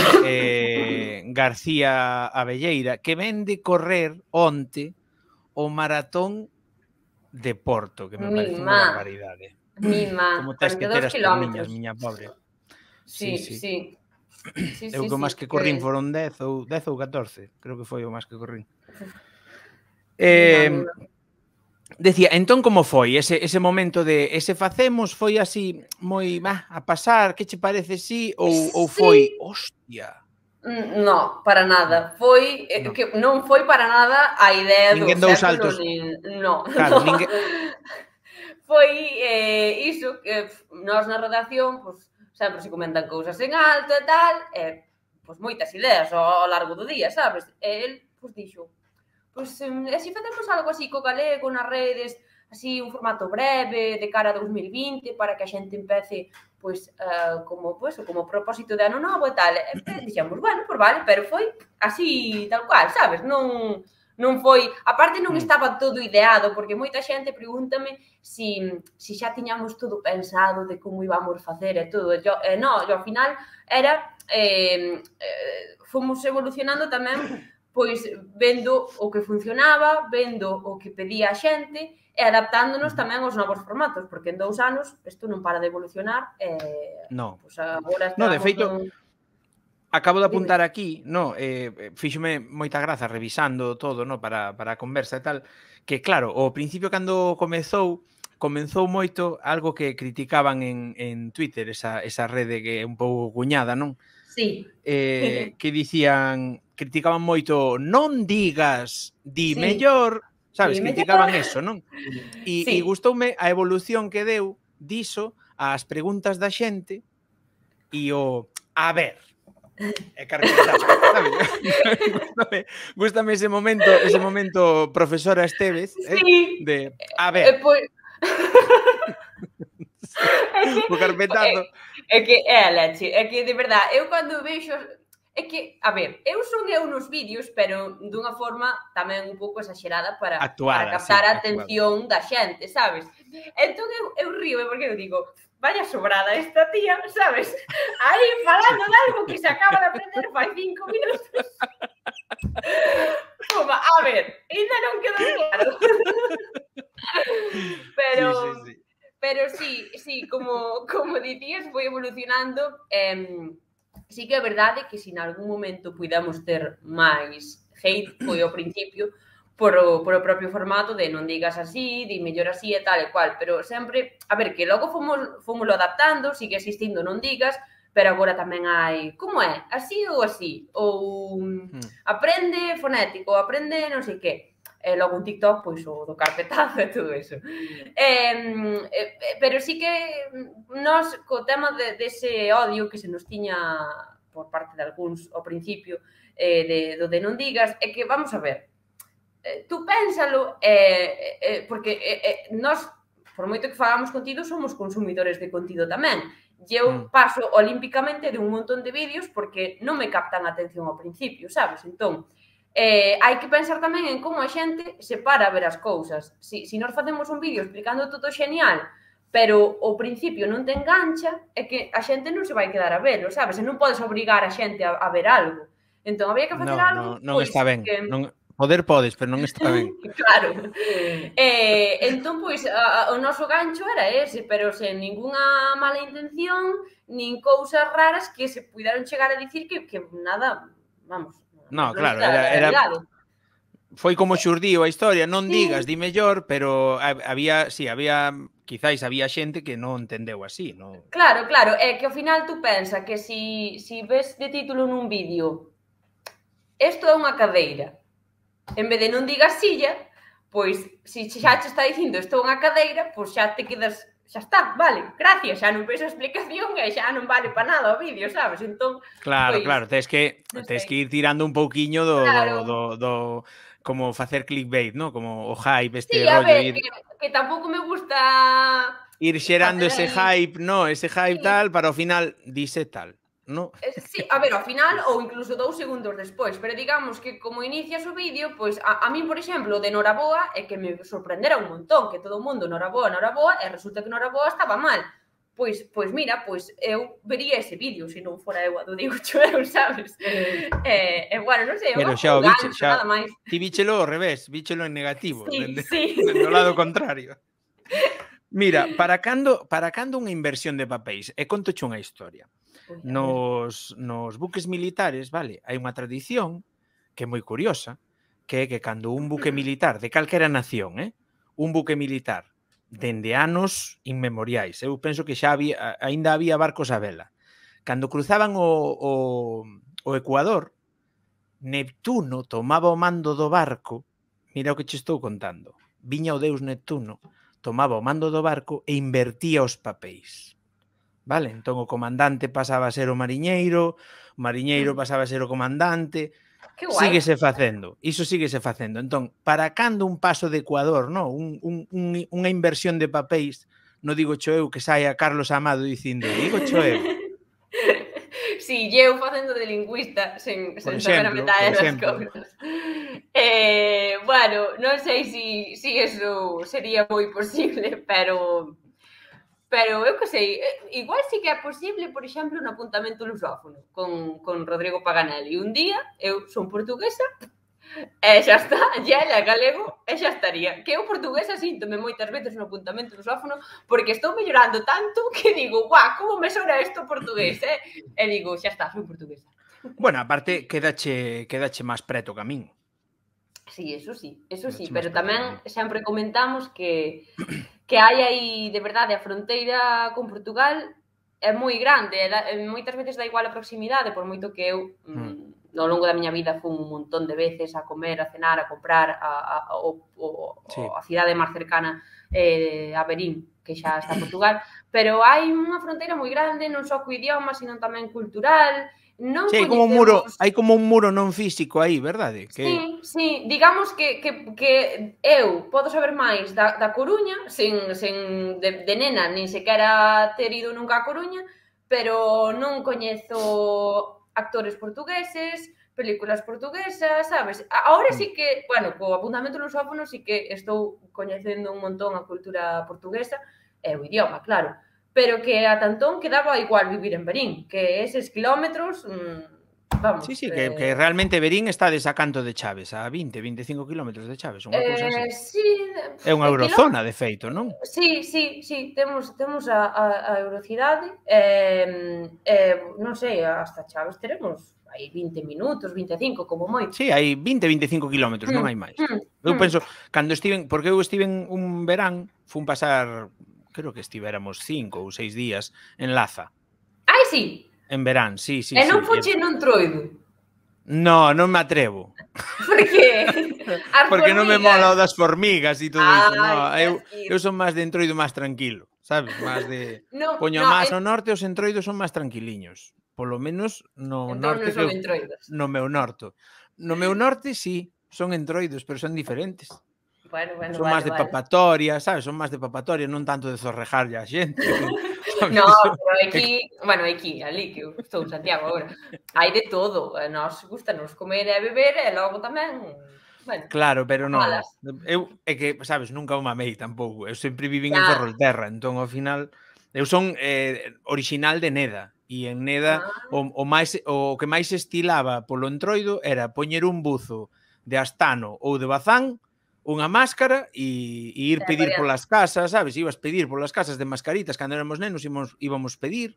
García Abelleira, que ven de correr onte o maratón de Porto, que me parece unha barbaridade. Como tes que ter as perniñas, miña pobre. Sí, sí. Eu que o máis que corrín foron 10 ou 14, creo que foi o máis que corrín. Decía, entón como foi ese momento de ese facemos, foi así moi a pasar, que che parece si ou foi, hostia? No, para nada. Foi que non foi para nada a idea do século nin no. Claro, ninguén foi iso que nós na redacción, pois sempre se comentan cousas en alto e tal, pois moitas ideas ao largo do día, sabes? E el pois dixo pois, se facemos algo así co galego nas redes, así un formato breve, de cara a 2020, para que a xente empece, pois, como propósito de ano novo e tal. E dixemos, bueno, pois vale, pero foi así, tal cual, sabes? Non foi... Aparte, non estaba todo ideado, porque moita xente pregúntame se xa tiñamos todo pensado de como íbamos facer e todo. No, ao final era... fomos evolucionando tamén pois vendo o que funcionaba, vendo o que pedía a xente e adaptándonos tamén aos novos formatos, porque en 2 anos isto non para de evolucionar e pois agora estamos... de feito, acabo de apuntar aquí, fíxome moita graza revisando todo, para a conversa e tal, que claro, ao principio cando comezou moito algo que criticaban en Twitter, esa rede que é un pouco cuñada, non? Sí. Que dicían, criticaban moito, non digas, di mellor, sabes, criticaban eso, non? E gustoume a evolución que deu diso ás preguntas da xente e a ver, carpetazo, sabes? Gústame ese momento profesora Esteves, de a ver. O carpetazo. É que é a leche, é que de verdade, eu cando vexo, é que, a ver, eu son nos vídeos, pero dunha forma tamén un pouco exagerada para captar a atención da xente, sabes? Entón eu río, porque eu digo, vaya sobrada esta tía, sabes? Aí falando de algo que se acaba de aprender fai 5 minutos. Como, a ver, ainda non quedou claro. Pero sí, como dicías, foi evolucionando. Sí que é verdade que se en algún momento puidamos ter máis hate, foi ao principio, por o propio formato de non digas así, di mellor así e tal e cual, pero sempre, a ver, que logo fomoslo adaptando, sigue existindo non digas, pero agora tamén hai, como é? Así ou así? Ou aprende fonético, aprende non sei que. E logo un TikTok, pois o do carpetazo e todo eso. Pero sí que nós, co tema dese odio que se nos tiña por parte de algúns ao principio, do de non digas, é que, vamos a ver, tú pénsalo, porque nós, por moito que falamos contido, somos consumidores de contido tamén. E eu paso olímpicamente de un montón de vídeos porque non me captan a atención ao principio, sabes? Entón, hai que pensar tamén en como a xente se para a ver as cousas. Se nós facemos un vídeo explicando todo xenial, pero ao principio non te engancha, é que a xente non se vai quedar a verlo, sabes? E non podes obrigar a xente a ver algo. Entón, había que facer algo... Non está ben. Poder podes, pero non está ben. Claro. Entón, pois, o noso gancho era ese, pero sen ningunha mala intención, nin cousas raras que se puidaron chegar a dicir que nada, vamos... No, claro, era foi como xurdiu a historia, non digas, di mellor, pero había quizáis había xente que non entendeu así, non? Claro, é que ao final tú pensa que si ves de título nun vídeo isto é unha cadeira, en vez de non digas silla, pois, se xa te está dicindo isto é unha cadeira, pois xa te quedas... xa está, vale, gracias, xa non ves a explicación e xa non vale para nada o vídeo, sabes? Entón, claro, tens que ir tirando un pouquiño do como facer clickbait, ¿no? Como o hype, este rollo. Sí, a ver, que tampouco me gusta... Ir xerando ese hype, ¿no? Ese hype tal, para ao final dice tal, ¿no? Sí, a ver, ao final, ou incluso 2 segundos despois, pero digamos que como inicias o vídeo, pois a min, por exemplo, de Noraboa, é que me sorprendera un montón, que todo o mundo Noraboa, e resulta que Noraboa estaba mal. pois mira, pois eu vería ese vídeo se non fora eu a do Diego Choeu, sabes? Bueno, non sei, Pero xa o biche, gancho, nada máis. Ti víchelo ao revés, víchelo en negativo, Sí. dende o lado contrario. Mira, para cando unha inversión de papéis? E contoche unha historia. Nos buques militares, vale, hai unha tradición que é moi curiosa, que é que cando un buque militar de calquera nación, un buque militar dende anos inmemoriais, eu penso que xa aínda había barcos a vela, cando cruzaban o Ecuador, Neptuno tomaba o mando do barco, mira o que che estou contando, viña o deus Neptuno, tomaba o mando do barco e invertía os papéis. Vale? Entón o comandante pasaba a ser o mariñeiro pasaba a ser o comandante, síguese facendo, iso síguese facendo. Entón, para cando un paso de Ecuador, no? Unha inversión de papéis, non digo cho eu que saia Carlos Amado dicindo, digo cho eu. Si, eu facendo de lingüista sen saber a metade das cousas. Bueno, non sei se eso sería moi posible, pero eu que sei, igual sí que é posible, por exemplo, un apuntamento lusófono con Rodrigo Paganelli. Un día, eu son portuguesa, e xa está, ya é galego, e xa estaría. Que eu portuguesa síntome moitas veces no apuntamento lusófono, porque estou mellorando tanto que digo, guau, como me sona isto portugués, E digo, xa está, son portuguesa. Bueno, aparte, quedache máis preto que a min. Sí, eso sí, pero tamén sempre comentamos que hai aí, de verdade, a fronteira con Portugal é moi grande, moitas veces dá igual a proximidade, por moito que eu, ao longo da miña vida, fun un montón de veces a comer, a cenar, a comprar a cidade máis cercana a Verín, que xa está en Portugal, pero hai unha fronteira moi grande, non só co idioma, sino tamén cultural. Sí, hai como un muro non físico aí, verdade? Sí, digamos que eu podo saber máis da Coruña, de nena, nin sequera ter ido nunca a Coruña, pero non coñezo actores portugueses, películas portuguesas, sabes? Agora sí que, bueno, co apuntamento lusófono sí que estou coñecendo un montón a cultura portuguesa e o idioma, claro. Pero que a Tantón quedaba igual vivir en Verín, que eses kilómetros, vamos... Sí, que realmente Verín está de Sacanto de Chaves, a 20-25 kilómetros de Chaves, unha cousa así. Sí... É unha eurozona, de feito, non? Sí, temos a eurocidade, non sei, hasta Chaves teremos aí 20 minutos, 25, como moito. Sí, hai 20-25 kilómetros, non hai máis. Eu penso, cando porque eu estive un verán, fun pasar... creo que estivéramos 5 ou 6 días en Laza. Ai, sí? En verán, sí. E non foche nun Entroido? Non me atrevo. Por qué? Porque non me mola o das formigas e todo iso. Eu son máis de Entroido máis tranquilo, sabes? Máis de... Poño máis ao norte, os Entroidos son máis tranquiliños. Polo menos no norte... Entón non son Entroidos. No meu norte. No meu norte, sí, son Entroidos, pero son diferentes. Son máis de papatoria, sabes? Son máis de papatoria, non tanto de zorrejarlle a xente. No, pero aquí, ali, que eu estou en Santiago agora, hai de todo. Nos gustanos comer e beber e logo tamén... Claro, pero non. Eu, é que, sabes, nunca o mamei tampouco. Eu sempre vivín en Ferrolterra, entón, ao final... Eu son orixinal de Neda, e en Neda o que máis estilaba polo Entroido era poñer un buzo de Astano ou de Bazán, unha máscara e ir pedir polas casas, sabes? Ibas pedir polas casas de mascaritas, cando éramos nenos íbamos pedir,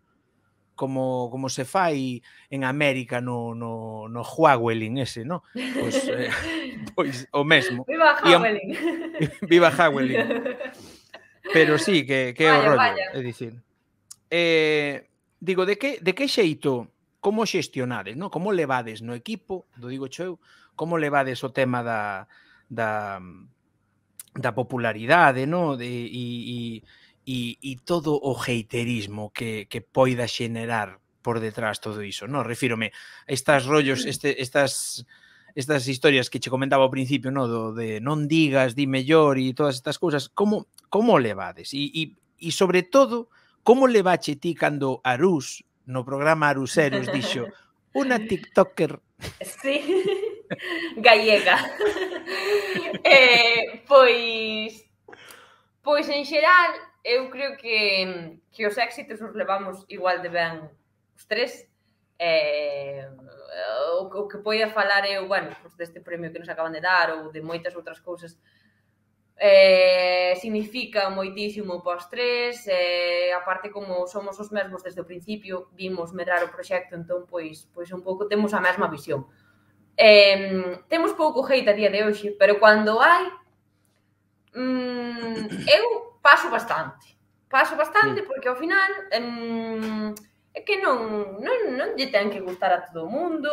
como se fai en América no Huawelin ese, non? Pois o mesmo. Viva Huawelin! Viva Huawelin! Pero sí, que é o rollo, é dicir. Digo, de que xeito, como xestionades, non? Como levades no equipo, do digo eu, como levades o tema da popularidade, no? E todo o heiterismo que poida xenerar por detrás todo iso, no? Refírome a estes rollos, estas historias que che comentaba ao principio, no? De non digas, di mellor e todas estas cousas, como levades? E sobre todo, como levache ti cando Arús, no programa Aruseros, dixo unha tiktoker... Sí... gallega. Pois en xeral, eu creo que os éxitos os levamos igual de ben os tres. O que poida falar eu, bueno, pues deste premio que nos acaban de dar ou de moitas outras cousas, significa moitísimo pos tres, aparte como somos os mesmos desde o principio, vimos medrar o proxecto, entón pois un pouco temos a mesma visión. Temos pouco hate a día de hoxe, pero cando hai, eu paso bastante porque ao final é que non lle ten que gustar a todo o mundo,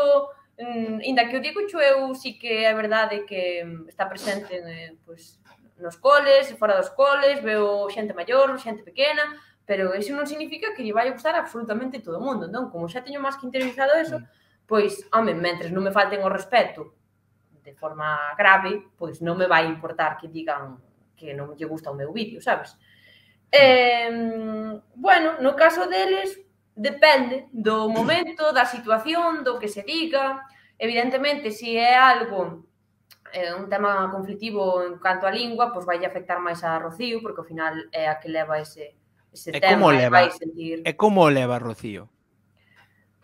inda que o digo eu, sí que é verdade que está presente pois, nos coles, fora dos coles, veo xente maior, xente pequena, pero iso non significa que lle vai a gustar absolutamente todo o mundo, entón, como xa teño máis que interiorizado eso, pois, home, mentres non me falten o respeto de forma grave, pois non me vai importar que digan que non lle gusta o meu vídeo, sabes? Bueno, no caso deles, depende do momento, da situación, do que se diga. Evidentemente, se é algo un tema conflictivo en canto a lingua, pois vai afectar máis a Rocío, porque ao final é a que leva ese tema e vai sentir... E como leva Rocío?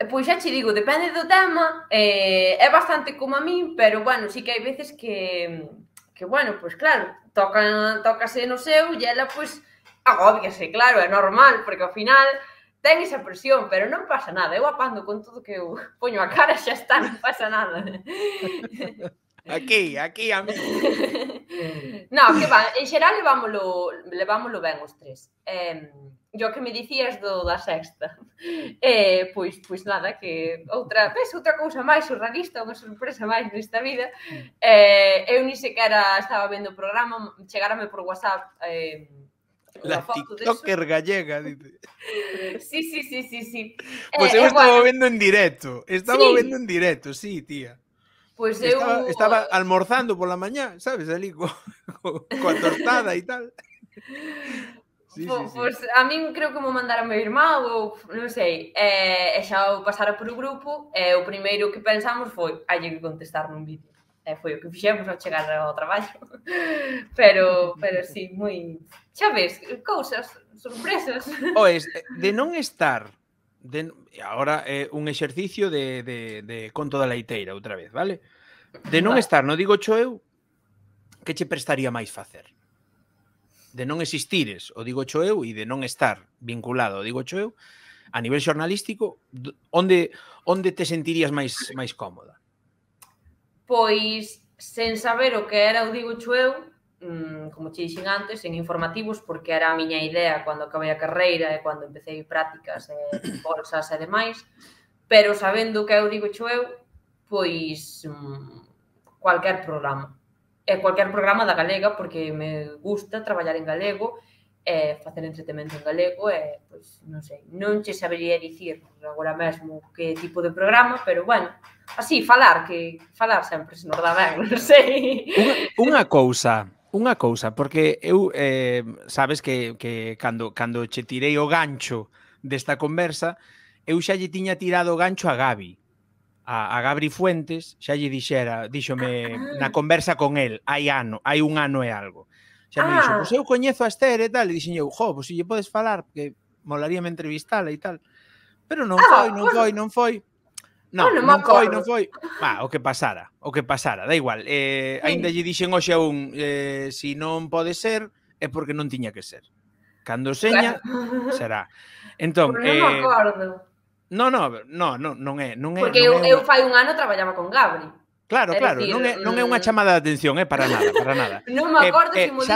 Pois xa che digo, depende do tema, é bastante como a min, pero, bueno, sí que hai veces que bueno, pois claro, tócase no seu e ela, pois, agóbiase, claro, é normal, porque ao final ten esa presión, pero non pasa nada, eu apando con todo que eu poño a cara, xa está, non pasa nada. Aquí, a mí. No, que va, en xeral levámoslo ben os tres. Yo que me dicías da sexta, pois nada, que outra cousa máis surrealista, unha sorpresa máis nesta vida. Eu ni sequera estaba vendo o programa, chegárame por WhatsApp la tiktoker gallega, dice. Sí. Pois eu estaba vendo en directo, sí, tía. Pois estaba almorzando pola mañá, sabes, ali coa tostada e tal. Sí. Pois a min creo que me mandara meu irmán ou non sei, e xa o pasara por o grupo e o primeiro que pensamos foi hai que contestar nun vídeo. Foi o que fixemos ao chegar ao traballo. Pero sí, moi... Xa ves, cousas, sorpresas. Oes, de non estar... Agora é un exercicio de conto da leiteira outra vez, vale? De non estar, non digo cho eu, que che prestaría máis facer? De non existires, o digo cho eu, e de non estar vinculado, o digo cho eu, a nivel xornalístico, onde te sentirías máis cómoda? Pois, sen saber o que era o digo cho eu, como che dixen antes, en informativos, porque era a miña idea cando acabei a carreira e cando empecé prácticas e bolsas e demais, pero sabendo que eu digo cho eu, pois cualquier programa. E cualquier programa da galega, porque me gusta traballar en galego e facer entretemento en galego e, pois, non sei, non che sabería dicir agora mesmo que tipo de programa, pero, bueno, así, falar sempre se nos dá ben, non sei. Unha cousa, porque eu, sabes que cando che tirei o gancho desta conversa, eu xa lle tiña tirado o gancho a Gabi. A Gabri Fuentes, xa lle díxome na conversa con el, hai un ano e algo. Xa me dixo, pois eu coñezo a Esther e tal, e dixen eu, pois se lle podes falar, porque molaríame entrevistala e tal. Pero non foi. Non foi. O que pasara, da igual. Ainda lle dixen hoxe a un, se non pode ser, é porque non tiña que ser. Cando seña, será. Entón, non me acordo. Non é. Porque eu fai un ano traballaba con Gabri. Claro, non é unha chamada de atención, para nada. Non me acordo se mo dixo,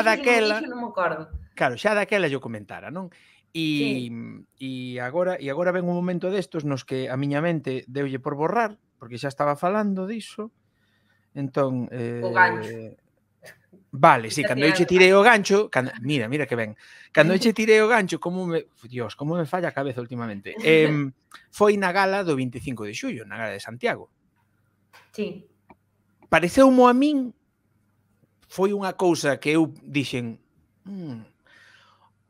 non me acordo. Claro, xa daquela yo comentara, non? E agora ven un momento destos nos que a miña mente deulle por borrar, porque xa estaba falando diso. Entón, o gancho. Vale, sí, cando eu che tirei o gancho, mira que ben. Cando eu che tirei o gancho, como me falla a cabeza últimamente. Foi na gala do 25 de xullo, na gala de Santiago. Sí. Pareceumo a min, foi unha cousa que eu dixen,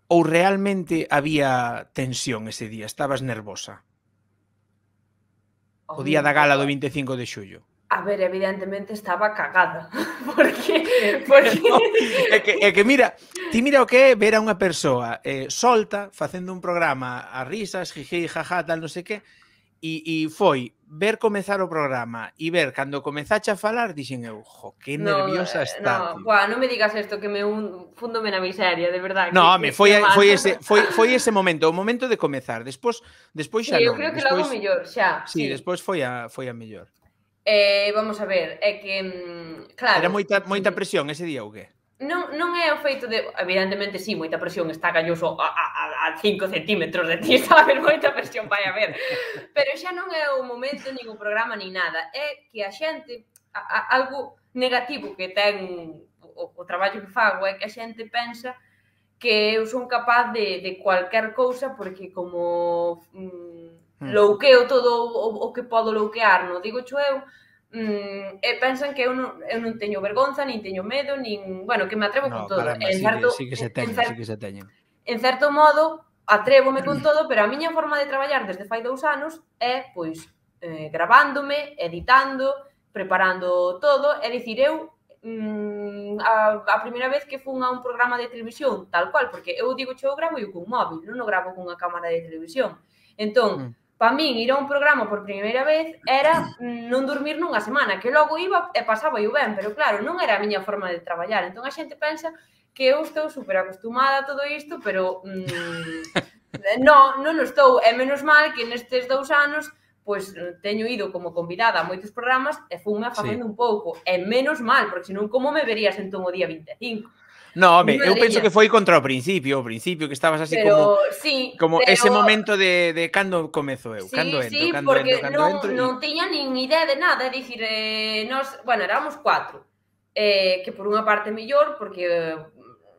ou realmente había tensión ese día, estabas nervosa? O día da gala do 25 de xullo. A ver, evidentemente estaba cagada. Porque... É que mira, ti mira o que é ver a unha persoa solta, facendo un programa a risas, jiji, jaja, tal, non sei que, e foi ver comezar o programa e ver cando comezache a falar, dixen eu, jo, que No, nerviosa está, no, tío. buah, non me digas isto que me fúndome na miseria, de verdad, No, home, que mal. foi ese momento, o momento de comezar. Despois Sí, xa eu non. creo que logo Despois, mellor, xa, sí, sí. despois foi a mellor. Vamos a ver, é que, claro... Era moita presión ese día ou que? Non é o feito de... Evidentemente, sí, moita presión, está Galloso a 5 centímetros de ti, sabes? Moita presión vai haber. Pero xa non é o momento, nin o programa, nin nada. É que a xente... algo negativo que ten o traballo que fago é que a xente pensa que eu son capaz de cualquier cousa porque como louqueo todo o que podo louquear, non digo xo eu, e pensan que eu non teño vergonza, nin teño medo, nin... Bueno, que me atrevo con todo. Caramba, sí que se teñen. En certo modo, atrévome con todo, pero a miña forma de traballar desde fai 2 anos é, pois, gravándome, editando, preparando todo, é dicir, eu a primeira vez que fun a un programa de televisión, tal cual, porque eu digo eu gravo eu cun móvil, non o gravo cunha cámara de televisión. Entón, para min ir a un programa por primeira vez era non dormir nunha semana, que logo iba e pasaba eu ben, pero claro, non era a miña forma de traballar. Entón a xente pensa que eu estou super acostumada a todo isto, pero non estou. E menos mal que nestes 2 anos pois teño ido como convidada a moitos programas e funme facendo un pouco. E menos mal, porque senón como me verías entón o día 25? No, home, eu penso que foi contra o principio que estabas así como ese momento de cando comezo eu, cando entro, cando entro, cando entro. Non tiña nin idea de nada, é dicir, nós, bueno, éramos 4, que por unha parte mellor, porque,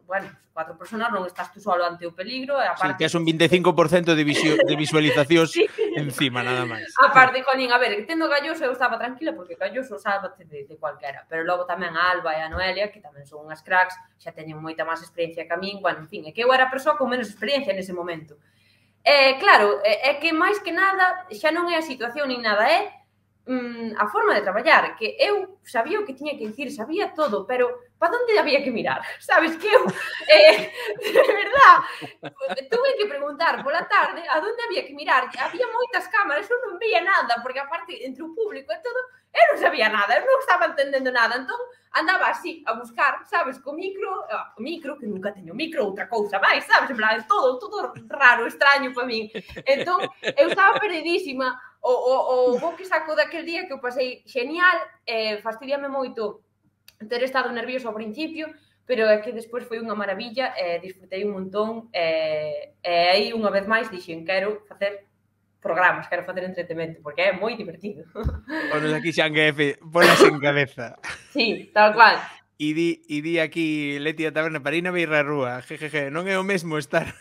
bueno, 4 personas non estás tú solo ante o peligro, e aparte... Sí, tes un 25% de visualizacións encima, nada máis. A parte, jolín, a ver, tendo Galloso eu estaba tranquila, porque Galloso sálvate de cualquera, pero logo tamén a Alba e a Noelia, que tamén son unhas cracks, xa teñen moita máis experiencia que a min, bueno, en fin, é que eu era a persoa con menos experiencia nese momento. Claro, é que máis que nada, xa non é a situación nin nada, é a forma de traballar, que eu sabía o que tiña que dicir, sabía todo, pero para onde había que mirar? Sabes que eu, de verdad, tuve que preguntar pola tarde a onde había que mirar. Había moitas cámaras, eu non veía nada, porque aparte, entre o público e todo, eu non sabía nada, eu non estaba entendendo nada, entón andaba así a buscar, sabes, co micro, que nunca teño micro, outra cousa máis, sabes, en plan, todo raro, extraño para min. Entón, eu estaba perdidísima. O bo que saco daquel día que eu pasei genial, fastidiame moito ter estado nervioso ao principio, pero é que despois foi unha maravilla, disfrutei un montón, e aí unha vez máis dixen, quero facer programas, quero facer entretemento, porque é moi divertido. Ponos aquí Xanguefe, polas en cabeza. Sí, tal cual. E di aquí Leti da Taberna para ir na beirra rúa, jejeje, non é o mesmo estar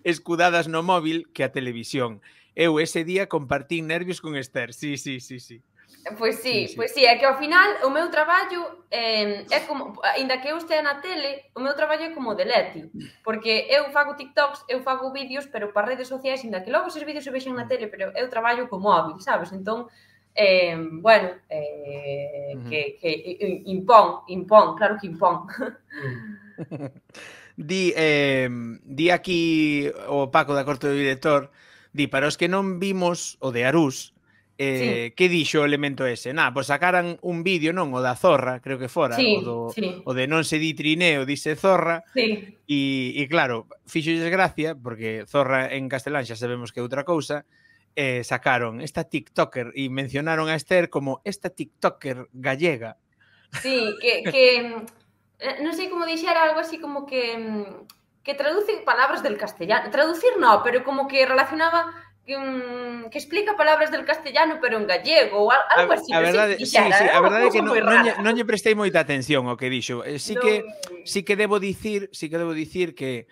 escudadas no móvil que a televisión. Eu ese día compartín nervios con Esther, sí. Pois sí, é que ao final o meu traballo é como, ainda que eu estea na tele, o meu traballo é como de Leti, porque eu fago TikToks, eu fago vídeos, pero para redes sociais, ainda que logo esos vídeos se vexen na tele, pero eu traballo co móvil, sabes? Entón, bueno, que impón, claro que impón. Di aquí o Paco da Corte do Director, di, para os que non vimos o de Arús, que dixo o elemento ese? Pois sacaran un vídeo, non? O da zorra, creo que fora, o de non se di trineo, dise zorra, e claro, fixolles gracia, porque zorra en castelán xa sabemos que é outra cousa, sacaron esta tiktoker e mencionaron a Esther como esta tiktoker gallega. Sí, que non sei como dixera, algo así como que traduce palabras del castellano. Traducir no, pero como que relacionaba, que explica palabras del castellano, pero en gallego, ou algo así. A verdade, sí, a verdade é que non lle prestei moita atención ao que dixo. Sí que debo dicir que,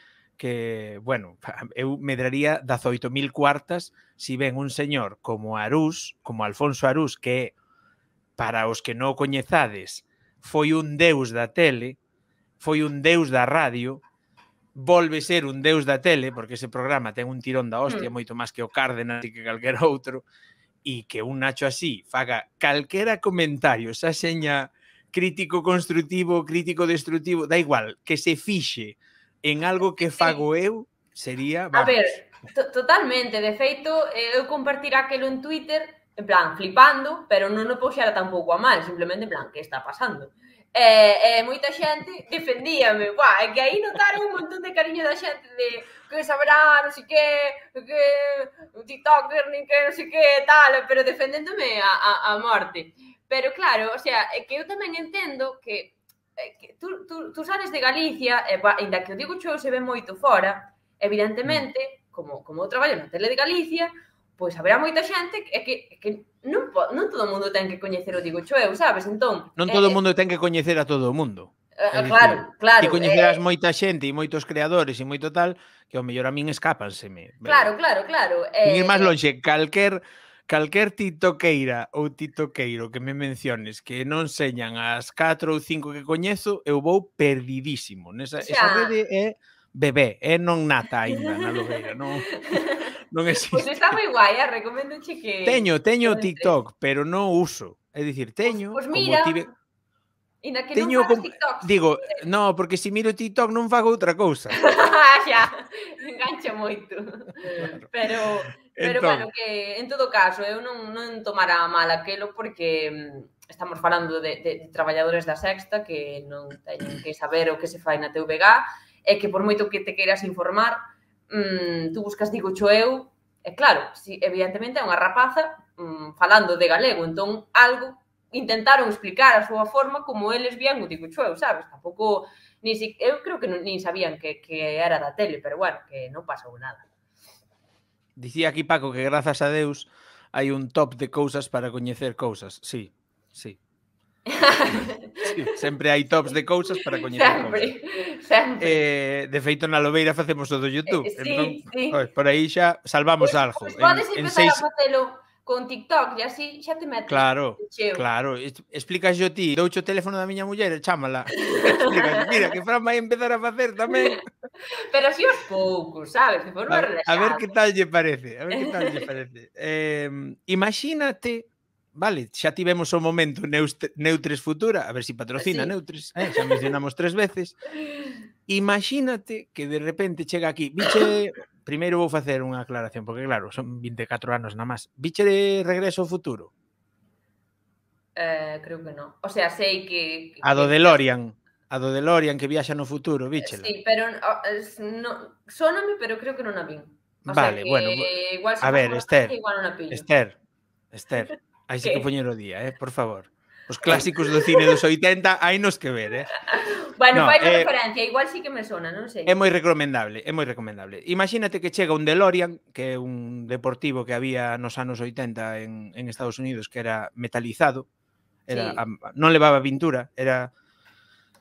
bueno, eu medraría 18.000 cuartas si ven un señor como Arús, como Alfonso Arús, que para os que non o coñezades, foi un deus da tele, foi un deus da radio, volve ser un deus da tele, porque ese programa ten un tirón da hostia, moito máis que o Cárdenas e que calquera outro, e que un Nacho así faga calquera comentario, xa seña crítico constructivo, crítico destructivo, da igual, que se fixe en algo que fago eu, sería, vamos. A ver, totalmente, de feito, eu compartir aquelo en Twitter, en plan, flipando, pero non o puxera tampouco a mal, simplemente en plan, que está pasando? Moita xente defendíame, é que aí notaron un montón de cariño da xente de que saberá, non sei que un tiktoker, nin que non sei que, tal, pero defendéndome a morte. Pero claro, o sea, é que eu tamén entendo que tú sales de Galicia, ainda que o digo xo se ve moito fora, evidentemente, como eu traballo na tele de Galicia, pois haberá moita xente que non todo o mundo ten que coñecer o digo eu, sabes? Entón, non todo o mundo ten que coñecer a todo o mundo. Claro. E coñecerás moita xente e moitos creadores e moito tal que ao mellor a min escápanseme. Claro. Sin ir máis lonxe, calquer tiktokeira ou tiktokeiro que me menciones que non señan as 4 ou 5 que coñezo, eu vou perdidísimo. Esa rede é bebé, non nata aínda na lobeira, non existe. Pois está moi guai, recomendoche que... Teño TikTok, pero non uso. É dicir, teño... Pois mira... Inda que non fagas TikToks. Digo, non, porque se miro TikTok non fago outra cousa. Xa, engancha moito. Pero bueno, que en todo caso, eu non tomara mal aquelo porque estamos falando de traballadores da Sexta que non teñen que saber o que se fai na TVG e que por moito que te queiras informar, tú buscas digocho eu, e claro, evidentemente é unha rapaza falando de galego, entón algo intentaron explicar a súa forma como eles vían o digo eu, sabes? Tampouco, eu creo que nin sabían que era da tele, pero bueno, que non pasou nada. Dicía aquí Paco que grazas a Deus hai un top de cousas para coñecer cousas. Sí. Sempre hai tops de cousas para coñecer cousas. Sempre. De feito, na lobeira facemos o do YouTube. Sí. Por aí xa salvamos algo. Pois podes empezar a facelo con TikTok e así xa te metes. Claro. Explícas yo ti, doucho o teléfono da miña muller e chámala. Explícas, mira, que Fran vai empezar a facer tamén. Pero así aos poucos, sabes? De forma relajada. A ver que tal lle parece. Imagínate, vale, xa tivemos o momento Neutres Futura, a ver se patrocina Neutres, xa mencionamos 3 veces. Imagínate que de repente chega aquí, biche... Primeiro vou facer unha aclaración, porque claro, son 24 anos na máis. Biche de Regreso ao Futuro? Creo que non. O sea, sei que... A do DeLorean que viaxa no futuro, bichela. Sí, pero sóname, pero creo que non a vin. Vale, bueno, a ver, Esther, aí sí que poñer o día, por favor. Os clásicos do cine dos 80 hai nos que ver, Bueno, fai unha referencia, igual sí que me sona, non sei. É moi recomendable. Imagínate que chega un DeLorean, que é un deportivo que había nos anos 80 en Estados Unidos, que era metalizado, non levaba pintura,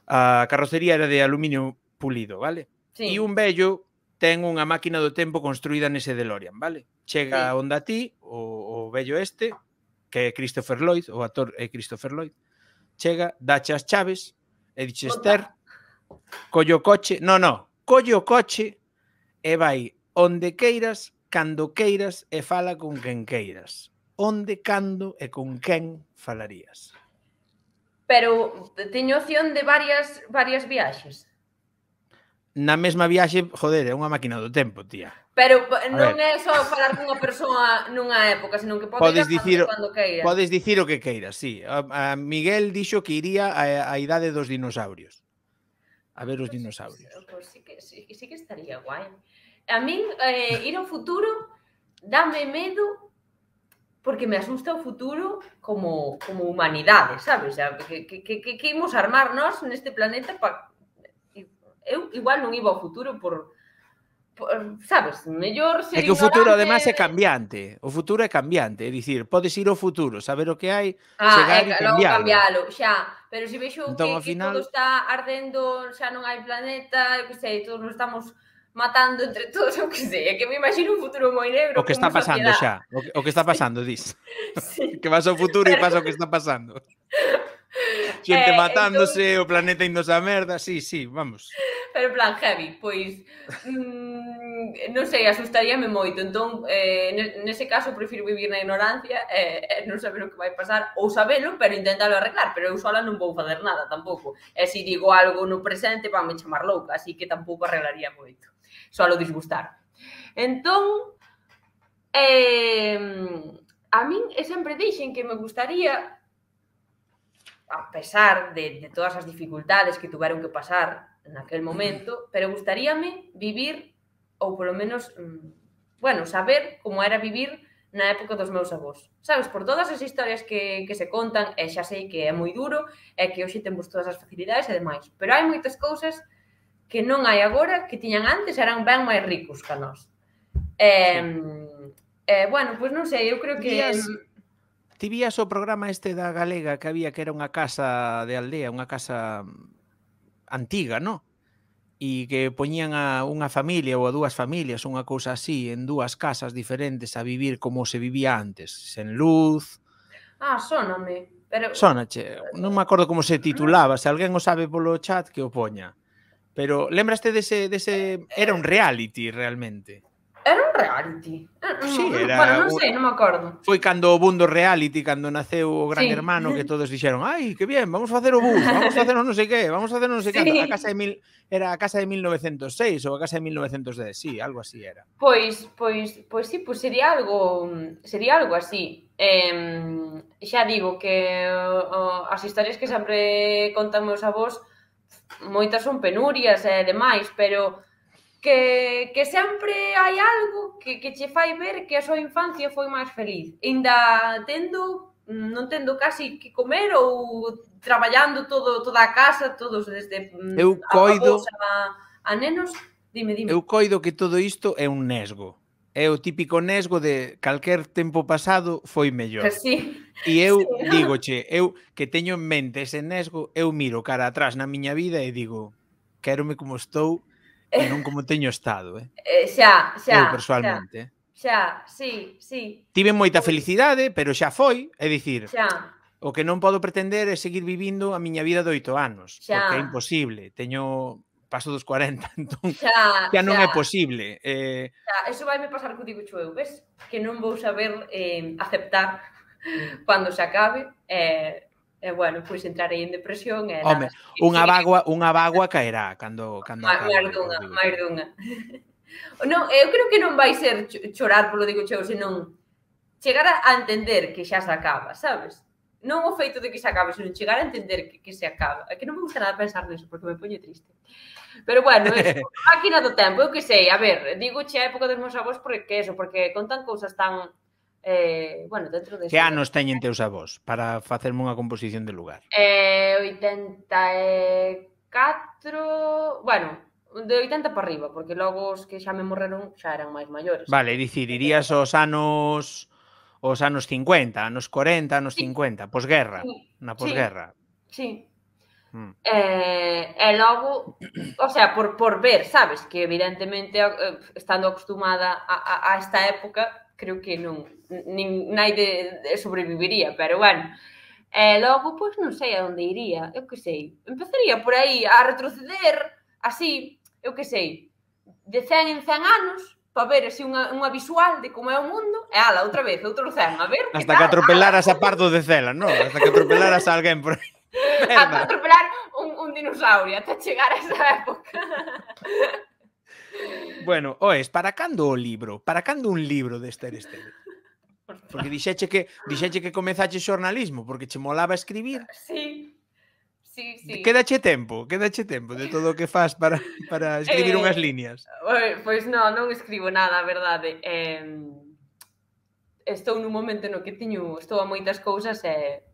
a carrocería era de aluminio pulido, vale? E un vello ten unha máquina do tempo construída nese DeLorean, vale? Chega onde a ti, o vello este, que é Christopher Lloyd, o actor é Christopher Lloyd, chega, dache as chaves, e dixe, Esther, collo o coche e vai onde queiras, cando queiras e fala con quen queiras. Onde, cando e con quen falarías? Pero teño opción de varias viaxes. Na mesma viaxe, joder, é unha máquina do tempo, tía. Pero non é só falar cunha persoa nunha época, senón que podes ir cando queiras. Podes dicir o que queiras, sí. A Miguel dixo que iría á idade dos dinosaurios. A ver os dinosaurios. Pois sí que estaría guai. A min, ir ao futuro dame medo porque me asusta o futuro como humanidade, sabes? Que imos armar nós neste planeta para... Eu igual non iba ao futuro por sabes, mellor ser ignorante... É que o futuro, además, é cambiante. O futuro é cambiante, é dicir, podes ir ao futuro, saber o que hai, chegar e cambialo. Xa, pero se vexo que final... todo está ardendo, xa non hai planeta, eu que sei, todos nos estamos matando entre todos, eu que sei, é que me imagino un futuro moi negro. O que está pasando xa, o que está pasando, dis. Que vas ao futuro e pasa o que está pasando. Xente matándose, o planeta indos a merda, sí, vamos. Pero en plan heavy, pois non sei, asustaríame moito. Entón, nese caso, prefiro vivir na ignorancia e non saber o que vai pasar, ou sabelo, pero intentalo arreglar, pero eu sola non vou fazer nada tampouco. E se digo algo no presente, vanme chamar louca, así que tampouco arreglaría moito. Solo disgustar. Entón, a min sempre dixen que me gustaría, a pesar de todas as dificultades que tuveron que pasar naquel momento, pero gustaríame vivir, ou polo menos, bueno, saber como era vivir na época dos meus avós. Sabes, por todas as historias que se contan, e xa sei que é moi duro, e que hoxe temos todas as facilidades e demais, pero hai moitas cousas que non hai agora, que tiñan antes, eran ben máis ricos que a nós. Bueno, pois non sei, eu creo que... Ti vías o programa este da Galega que había que era unha casa de aldea, unha casa antiga, non? E que poñían a unha familia ou a dúas familias, unha cousa así, en dúas casas diferentes a vivir como se vivía antes, sen luz... Sóname, pero... Sónache, non me acordo como se titulaba, se alguén o sabe polo chat que o poña. Pero lembraste dese... Era un reality, realmente. Era un reality? Sí, era... Bueno, non sei, non me acordo. Foi cando o boom do reality, cando naceu o Gran Hermano, que todos dixeron, ai, que bien, vamos facer o boom, vamos facer non sei que, vamos facer non sei que. Era a casa de 1906 ou a casa de 1910, sí, algo así era. Pois sí, sería algo así. Xa digo que as historias que sempre contan meus avós, moitas son penurias e demais, pero que sempre hai algo que che fai ver que a súa infancia foi máis feliz. Ainda non tendo casi que comer ou traballando toda a casa, todos desde avós a nenos. Dime. Eu coido que todo isto é un nesgo. É o típico nesgo de calquer tempo pasado foi mellor. Sí. E eu dígoche, eu que teño en mente ese nesgo, eu miro cara atrás na miña vida e digo, quérome como estou e non como teño estado, Xa. Eu, persoalmente. Xa, sí. Tive moita felicidade, pero xa foi, é dicir, xa. O que non podo pretender é seguir vivindo a miña vida de 8 anos, xa. Porque é imposible, paso dos 40, entón xa non é posible. Xa, eso vai me pasar co digo eu, ves? Que non vou saber aceptar cando se acabe, bueno, pois entrarei en depresión e nada. Home, unha bagua caerá cando acabe. Máis dunha. Non, eu creo que non vai ser chorar polo digo cheo, senón chegar a entender que xa se acaba, sabes? Non o feito de que se acabe, senón chegar a entender que se acaba. É que non me gusta nada pensar neso, porque me poño triste. Pero bueno, máquina do tempo, eu que sei, a ver, digo che a época dos meus avós porque contan cousas tan... bueno, dentro de... Que anos teñen teus avós para facerme unha composición de lugar? 84... Bueno, de 80 para arriba, porque logo os que xa me morreron xa eran máis maiores. Vale, dicir, irías aos anos 50, anos 40, anos 50, posguerra, na posguerra. Sí. E logo, o sea, por ver, sabes, que evidentemente estando acostumada a esta época, creo que non naide sobreviviría, pero bueno. E logo, pois non sei a onde iría, eu que sei. Empezaría por aí a retroceder, así, eu que sei, de 100 en 100 anos, para ver así unha visual de como é o mundo, e ala, outra vez, outro 100, a ver que hasta que atropelaras a Pardo de Cela, non? Hasta que atropelaras a alguén por aí. Hasta atropelar un dinosaurio, ata chegar a esa época. Bueno, oes, para cando o libro? Para cando un libro de Esther Esteve? Porque dixeche que comezache xornalismo, porque che molaba escribir. Sí. Quédache tempo de todo o que fas para escribir unhas liñas. Pois non escribo nada, a verdade. Estou nun momento no que estou a moitas cousas e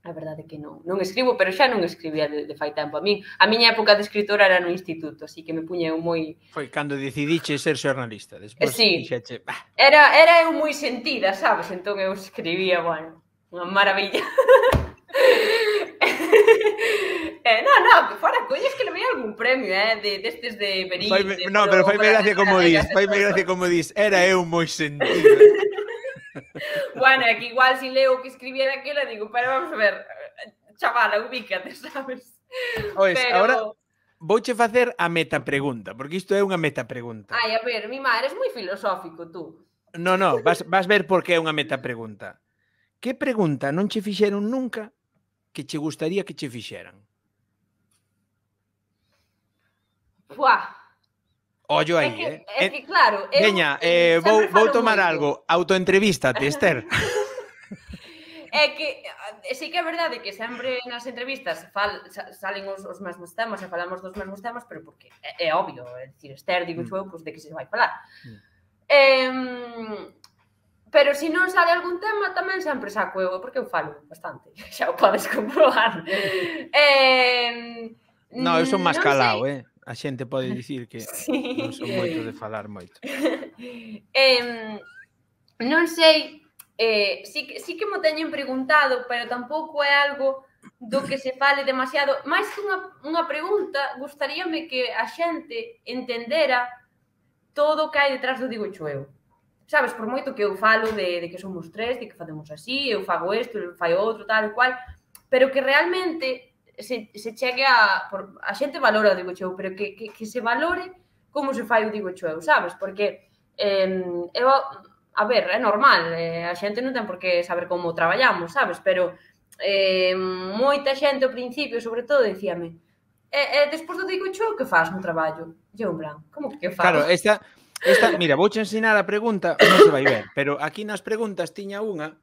a verdade é que non escribo, pero xa non escribía de fai tempo. A miña época de escritora era no instituto, así que me puña eu moi... Foi cando decidiche ser xornalista, despois dixeche... Era eu moi sentida, sabes? Entón eu escribía, bueno, unha maravilla. No, que fora colles que levei algún premio, destes de Berín. No, pero faime gracia como dis, era eu moi sentida. Bueno, é que igual si leo o que escribía daquela, digo, pero vamos a ver, chavala, ubícate, sabes? Ois, agora vouche facer a metapregunta, porque isto é unha metapregunta. Ai, a ver, Mima, eres moi filosófico, tú. No, vas ver por que é unha metapregunta. Que pregunta non che fixeron nunca que che gustaría que che fixeran? Fuá. Ollo aí, É que claro, veña, vou tomar algo. Autoentrevístate, Esther. É que sí que é verdade que sempre nas entrevistas salen os mesmos temas e falamos dos mesmos temas, pero porque é obvio, é dicir, Esther, digo eu, pois de que se vai falar. Pero se non sale algún tema, tamén sempre saco eu, porque eu falo bastante, xa o podes comprobar. No, eu son máis calado, A xente pode dicir que non son moito de falar moito. Non sei, sí que mo teñen preguntado, pero tampouco é algo do que se fale demasiado. Mais que unha pregunta, gustaríame que a xente entendera todo o que hai detrás do Digo eu. Sabes, por moito que eu falo de que somos tres, de que facemos así, eu fago isto, eu fai outro, tal e cual, pero que realmente se chegue a xente valora o Digo eu, pero que se valore como se fai o Digo eu, sabes? Porque eu, a ver, é normal, a xente non ten por que saber como traballamos, sabes? Pero moita xente ao principio, sobre todo, dicíame despois do Digo eu, que faz no traballo? E eu, en plan, como que fago? Claro, esta, mira, vouche ensinar a pregunta, non se vai ver, pero aquí nas preguntas tiña unha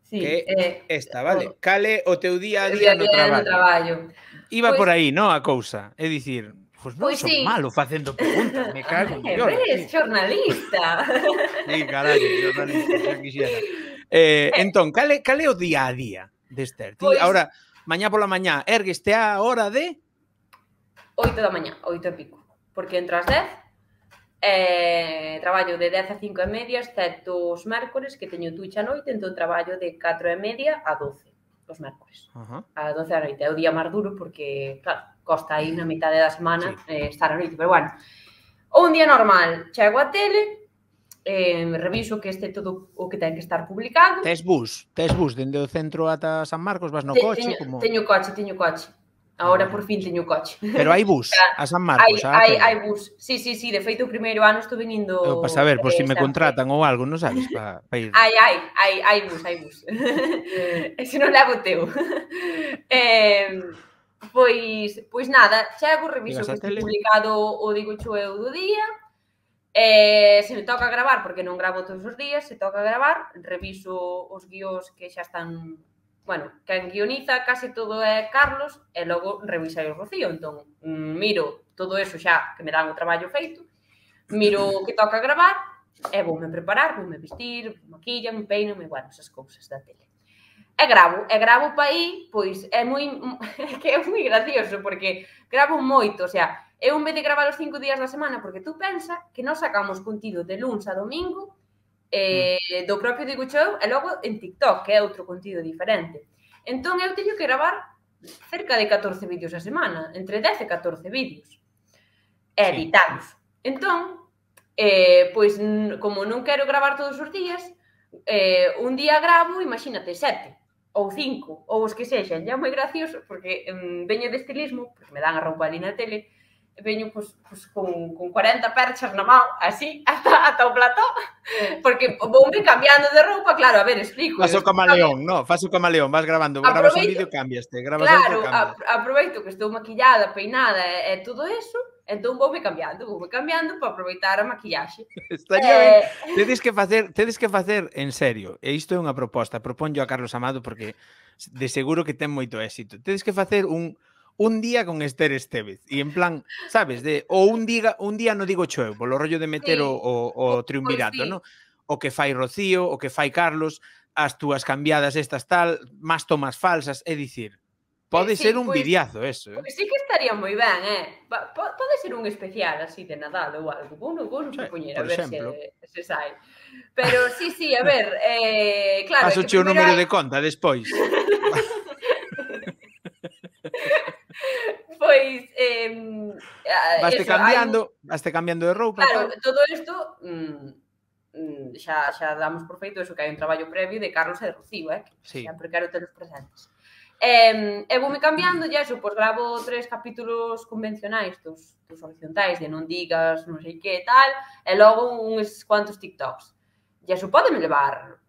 que é esta, vale? Cal é o teu día a día no traballo? Iba por aí, non, a cousa. É dicir, pois non son malo facendo preguntas, me cago en Dios. Ves, xornalista. Sí, carallo, xornalista, xa quixera. Entón, cal é o día a día de Esther? Ti, ahora, mañá pola mañá, ergueste a hora de... 8 da mañá, 8 e pico. Porque entro ás 10, traballo de 10 a 5 e media, excepto os mércores, que teño Twitch a noite, entón traballo de 4 e media a 12, os mércores. A 12 da noite. É o día máis duro porque, claro, costa aí na mitade da semana estar a noite, pero bueno. Un día normal, chego a tele, reviso que este todo o que ten que estar publicado. Tes bus dende o centro ata San Marcos, vas no coche? Teño coche. Agora por fin teño coche. Pero hai bus a San Marcos? Hai bus. Sí, de feito o primeiro ano estuve indo... Para saber, por se me contratan ou algo, non sabes? Para ir... Hai bus. Ese non levo teu. Pois nada, chego, reviso que este publicado o Digo eu do día. Se me toca gravar, porque non gravo todos os días, se toca gravar, reviso os guións que xa están... Bueno, quen guioniza case todo é Carlos e logo revisai o Rocío. Entón, miro todo eso xa que me dan o traballo feito, miro o que toca gravar e voume preparar, voume vestir, maquillame, peíname, bueno, esas cousas da tele. E gravo pa aí, pois é moi gracioso, porque gravo moito, o sea, eu en vez de gravar os 5 días da semana, porque tú pensa que nós sacamos contido de luns a domingo, do propio Digo eu, e logo en TikTok, que é outro contido diferente. Entón, eu teño que gravar cerca de 14 vídeos a semana, entre 10 e 14 vídeos, e editados. Entón, pois, como non quero gravar todos os días, un día gravo, imagínate, 7 ou 5, ou os que sexan. É moi gracioso, porque veño de estilismo, porque me dan a roupa ali na tele, veño con 40 perchas na mão, así, ata o plató, porque voume cambiando de roupa, claro, a ver, explico. Fas o camaleón, non? Fas o camaleón, vas grabando, grabas un vídeo, cambiaste, grabas outro, cambias. Claro, aproveito que estou maquillada, peinada e todo eso, entón voume cambiando para aproveitar a maquillaxe. Estaría ben, tedes que facer en serio, e isto é unha proposta, proponyo a Carlos Amado porque de seguro que ten moito éxito. Tedes que facer un día con Esther Estévez, e en plan, sabes, ou un día no Digo eu, polo rollo de meter o triunvirato, non? O que fai Rocío, o que fai Carlos, as túas cambiadas estas tal, máis tomas falsas, é dicir, pode ser un videazo eso, Pois sí que estaría moi ben, pode ser un especial así de Nadal ou algo, vou non propoñer, a ver se sai. Pero sí, a ver, claro... Paso o número de conta despois. Pois vaste cambiando de roupa. Claro, todo isto xa damos por feito eso, que hai un traballo previo de Carlos e de Rocío, que sempre quero telos presentes. E voume cambiando, e eso, pois gravo 3 capítulos convencionais dos horizontais, de non digas, non sei que, tal, e logo uns cuantos TikToks. E eso podeme levar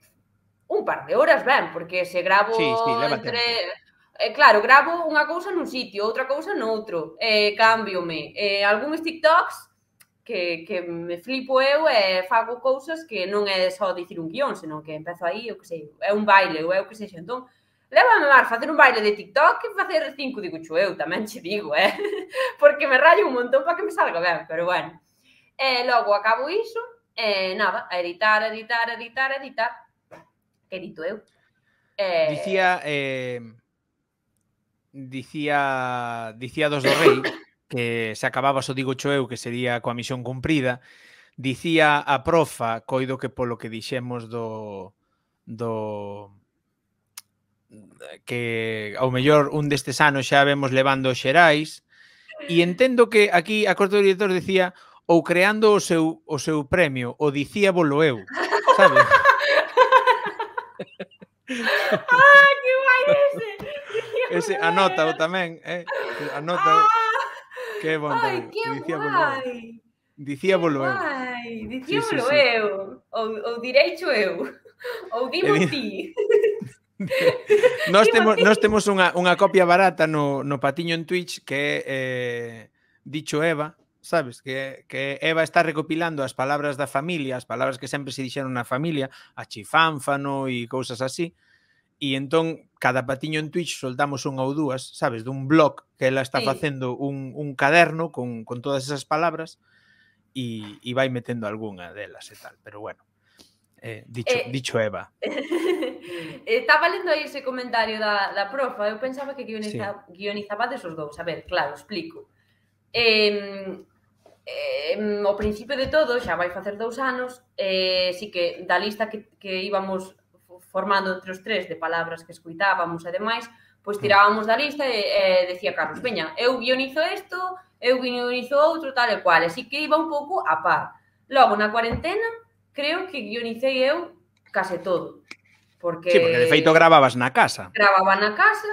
un par de horas, ben, porque se gravo leva entre... tempo. Claro, gravo unha cousa nun sitio, outra cousa noutro, cámbiome. Algúns TikToks que me flipo eu e fago cousas que non é só dicir un guión, senón que empezo aí, eu que sei, é un baile, ou é o que sexa. Entón, lévame máis facer un baile de TikTok que facer 5, digo eu, tamén che digo, porque me rallo un montón para que me salga ben, pero bueno. Logo acabo iso, nada, a editar. Edito eu. Dicía dos do Rei que se acababas o digo cho eu, que sería coa misión cumprida. Dicía a profa, coido que polo que dixemos do que ao mellor un destes anos xa vemos levando os xerais, e entendo que aquí a corte do director decía ou creando o seu premio, o dicíabolo eu, sabes? Ah, que guai ese! Ese anótao tamén, anótao, que bon tamén. Ai, que guai! Dicíabolo eu. Dicíabolo eu, ou direicho eu, ou dimo ti. Nós temos unha copia barata no patiño en Twitch que é Dicho Eva, sabes? Que Eva está recopilando as palabras da familia, as palabras que sempre se dixeron na familia, a chifánfano e cousas así, e entón cada patiño en Twitch soltamos unha ou dúas, sabes? Dun blog que ela está facendo un caderno con todas esas palabras e vai metendo algunha delas e tal, pero bueno. Dicho Eva. Estaba lendo aí ese comentario da profa, eu pensaba que guionizabades os dous. A ver, claro, explico. Ao principio de todo, xa vai facer 2 anos, si que da lista que íbamos formando entre os 3 de palabras que escuitábamos e demais, pois tirábamos da lista e decía Carlos, veña, eu guionizo isto, eu guionizo outro, tal e cual, así que iba un pouco a par. Logo, na cuarentena, creo que guionicei eu case todo. Porque... Sí, porque de feito gravabas na casa. Gravaba na casa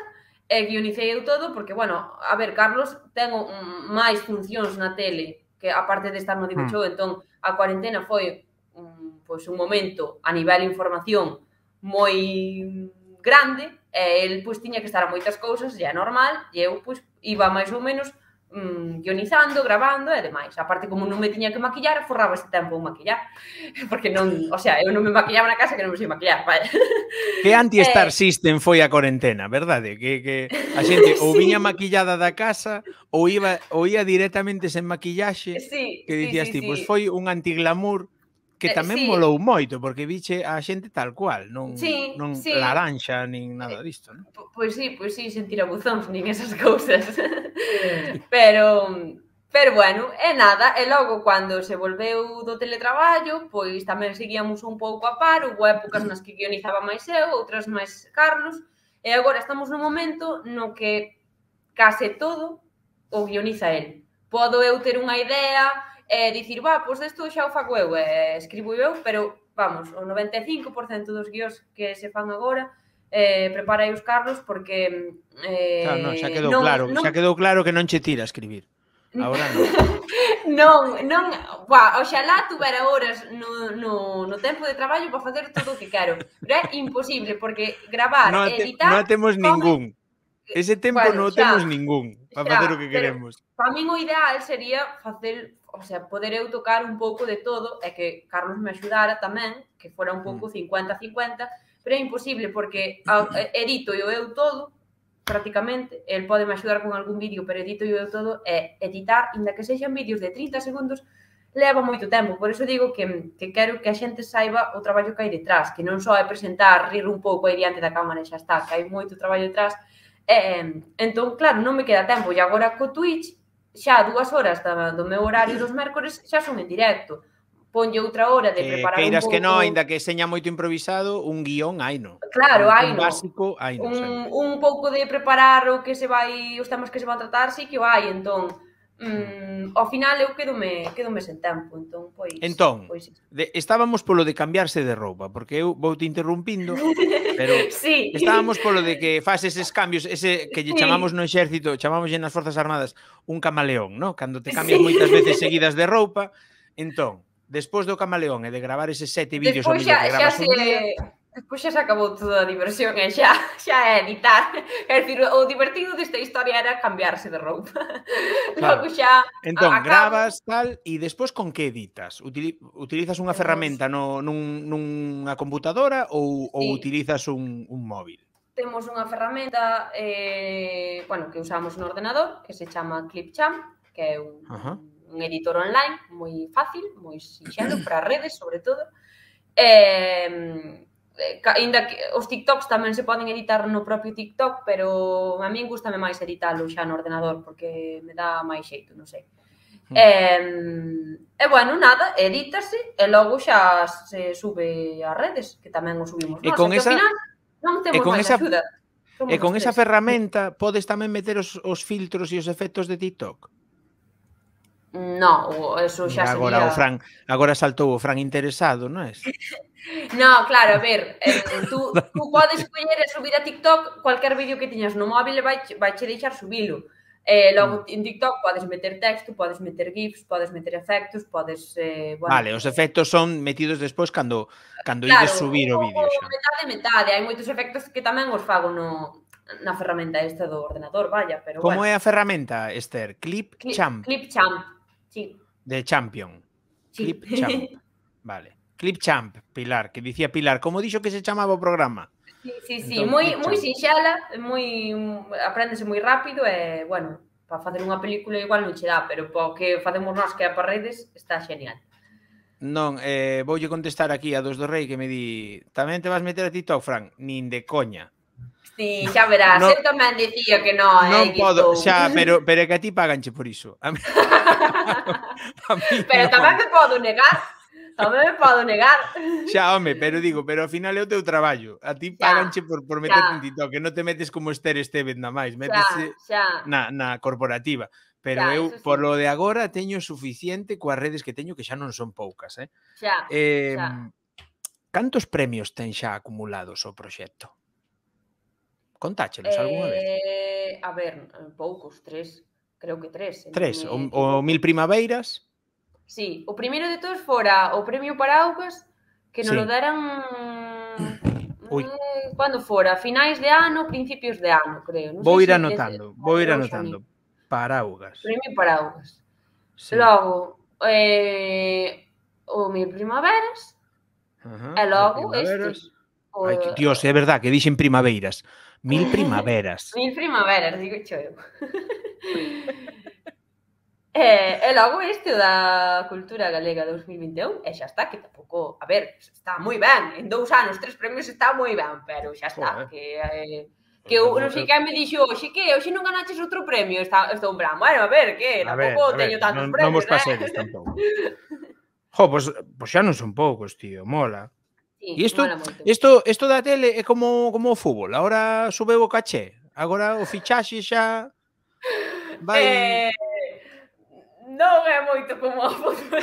e guionicei eu todo porque, bueno, a ver, Carlos ten máis funcións na tele que aparte de estar no Digo Show, entón a cuarentena foi pois un momento a nivel información moi grande e el pois tiña que estar a moitas cousas, e é normal, e eu pois iba máis ou menos guionizando, gravando e demais. Aparte, como non me tiña que maquillar, forraba ese tempo en maquillar. Porque non, o sea, eu non me maquillaba na casa que non me sei maquillar, vale. Que anti-Star System foi a cuarentena, verdade? Que a xente ou viña maquillada da casa ou ia directamente sen maquillaxe, que dicías ti, pois foi un anti-glamour que tamén molou moito, porque viche a xente tal cual, non laranxa, nin nada disto, non? Pois sí, sen tirabuzóns, nin esas cousas. Pero bueno, é nada, e logo, cando se volveu do teletraballo, pois tamén seguíamos un pouco a par, houve épocas nas que guionizaba máis eu, outras máis Carlos, e agora estamos nun momento no que case todo o guioniza el. Podo eu ter unha idea e dicir, pois isto xa o fago eu, escribo eu, pero, vamos, o 95% dos guións que se fan agora prepara os Carlos porque... Claro, non, xa quedou claro que non che tira a escribir. Agora non. Oxalá tuvera horas no tempo de traballo para facer todo o que quero, pero é imposible, porque gravar e editar... Non temos ningún. Ese tempo non temos ningún para facer o que queremos. Para min o ideal sería facer, o sea, poder eu tocar un pouco de todo e que Carlos me axudara tamén, que fora un pouco 50-50, pero é imposible porque edito eu todo, prácticamente, el pode me axudar con algún vídeo, pero edito eu todo, e editar, inda que sexan vídeos de 30 segundos, leva moito tempo. Por iso digo que quero que a xente saiba o traballo que hai detrás, que non só é presentar, rir un pouco aí diante da cámara e xa está, que hai moito traballo detrás. Entón, claro, non me queda tempo, e agora co Twitch, xa 2 horas do meu horario dos mércores xa son en directo. Ponlle outra hora de preparar un pouco... Queiras que non, ainda que seña moito improvisado, un guión haino. Claro, haino. Un básico haino. Un pouco de preparar o que se vai, os temas que se van tratar, sí que o hai, entón... Ao final eu quedome sen tempo, entón, pois... Entón, estábamos polo de cambiarse de roupa, porque eu vou te interrumpindo, pero estábamos polo de que faz eses cambios, ese que lle chamamos no exército, chamamos nas Forzas Armadas un camaleón, ¿no? Cando te cambias moitas veces seguidas de roupa, entón, despois do camaleón e de gravar eses 7 vídeos ou millón que gravas un día... Despois xa se acabou toda a diversión e xa é editar. É dicir, o divertido desta historia era cambiarse de roupa. Logo xa... Entón, gravas, tal, e despois con que editas? Utilizas unha ferramenta nunha computadora ou utilizas un móvil? Temos unha ferramenta que usamos no ordenador que se chama Clipchamp, que é un editor online moi fácil, moi sinxelo para redes, sobre todo. Ainda que os TikToks tamén se poden editar no propio TikTok, pero a min gustame máis editalo xa no ordenador porque me dá máis xeito, non sei. E bueno, nada, edítase e logo xa se sube ás redes, que tamén o subimos nós, que ao final non temos máis axuda. E con esa ferramenta podes tamén meter os filtros e os efectos de TikTok? No, eso xa sería... Agora saltou o Fran interesado, non é? No, claro, a ver, tú podes coller e subir a TikTok cualquier vídeo que tiñas no móvil e vaiche deixar subilo. Logo, en TikTok podes meter texto, podes meter GIFs, podes meter efectos, podes... Vale, os efectos son metidos despois cando ides subir o vídeo xa. Metade. Hai moitos efectos que tamén os fago na ferramenta esta do ordenador, vaya, pero Como é a ferramenta, Esther? Clipchamp. Clipchamp, sí. De Champion. Sí. Clipchamp. Vale. Clipchamp, Pilar, que dicía Pilar, como dixo que se chamaba o programa? Sí, moi sinxela, apréndese moi rápido e, bueno, para facer unha película igual non che dá, pero para o que facemos nós que é para redes, está genial. Non, voulle contestar aquí a Dos do Rei que me di, tamén te vas meter a TikTok, Fran? Nin de coña. Sí, xa verás, eu tamén dicía que non, non podo, xa, pero é que a ti paganche por iso. Pero tamén me podo negar. Tamén me podo negar. Xa, home, pero ao final é o teu traballo. A ti paganche por meterte en TikTok, que non te metes como Esther Estevez na máis, metese na corporativa. Pero eu, por lo de agora, teño suficiente coas redes que teño, que xa non son poucas, Xa. Cantos premios ten xa acumulados o proxecto? Contáchelos algunha vez? A ver, poucos, 3. Creo que 3. 3? O 1000 Primaveiras? Sí, o primeiro de todos fora o premio Paraugas, que nos lo deran cando fora, finais de ano, principios de ano, creo. Vou ir anotando. Paraugas. Premio Paraugas. Logo, o 1000 Primaveras, e logo este. Ai, Dios, é verdad que dixen primaveiras. 1000 Primaveras. 1000 Primaveras, digo cho eu. E logo este da Cultura Galega 2021, e xa está, que tampouco, a ver, está moi ben, en 2 anos, 3 premios está moi ben, pero xa está, que eu non sei quen me dixo, hoxe non ganaches outro premio, estou en plan, bueno, a ver, que tampouco teño tantos premios, non vos pasedes tampouco. Jo, pois xa non son poucos, tío, mola. E isto da tele é como o fútbol, agora subeu o caché, agora o fichaxe xa vai... Non é moito como o fútbol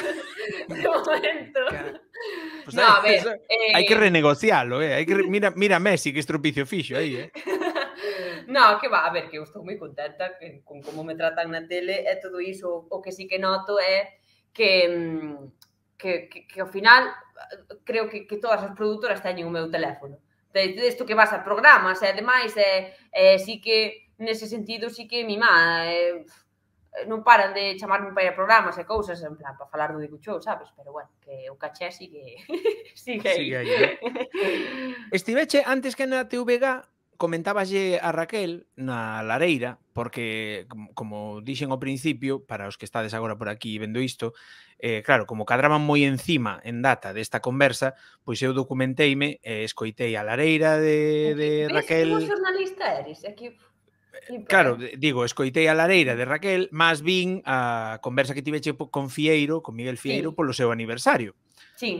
de momento. Pues no, a ver, hai que renegocialo, mira Messi que estropicio fixo aí, No, que va, a ver, que eu estou moi contenta con como me tratan na tele e todo iso. O que sí que noto é que ao final creo que todas as produtoras teñen o meu teléfono. Desto que vas a programas e demais, sí que nese sentido sí que mima, non paran de chamarme para ir a programas e cousas, en plan, para falar do Dibuchou, sabes? Pero, bueno, que o caché sigue aí. Estiveche, antes que na TVG, comentáballe a Raquel na Lareira, porque, como dixen ao principio, para os que estades agora por aquí vendo isto, claro, como cadraban moi encima en data desta conversa, pois eu documenteime e escoitei a Lareira de Raquel... Ves como xornalista eres? Aquí... Claro, digo, escoitei a Lareira de Raquel, mas vin a conversa que tiveche con Fieiro, con Miguel Fieiro, polo seu aniversario.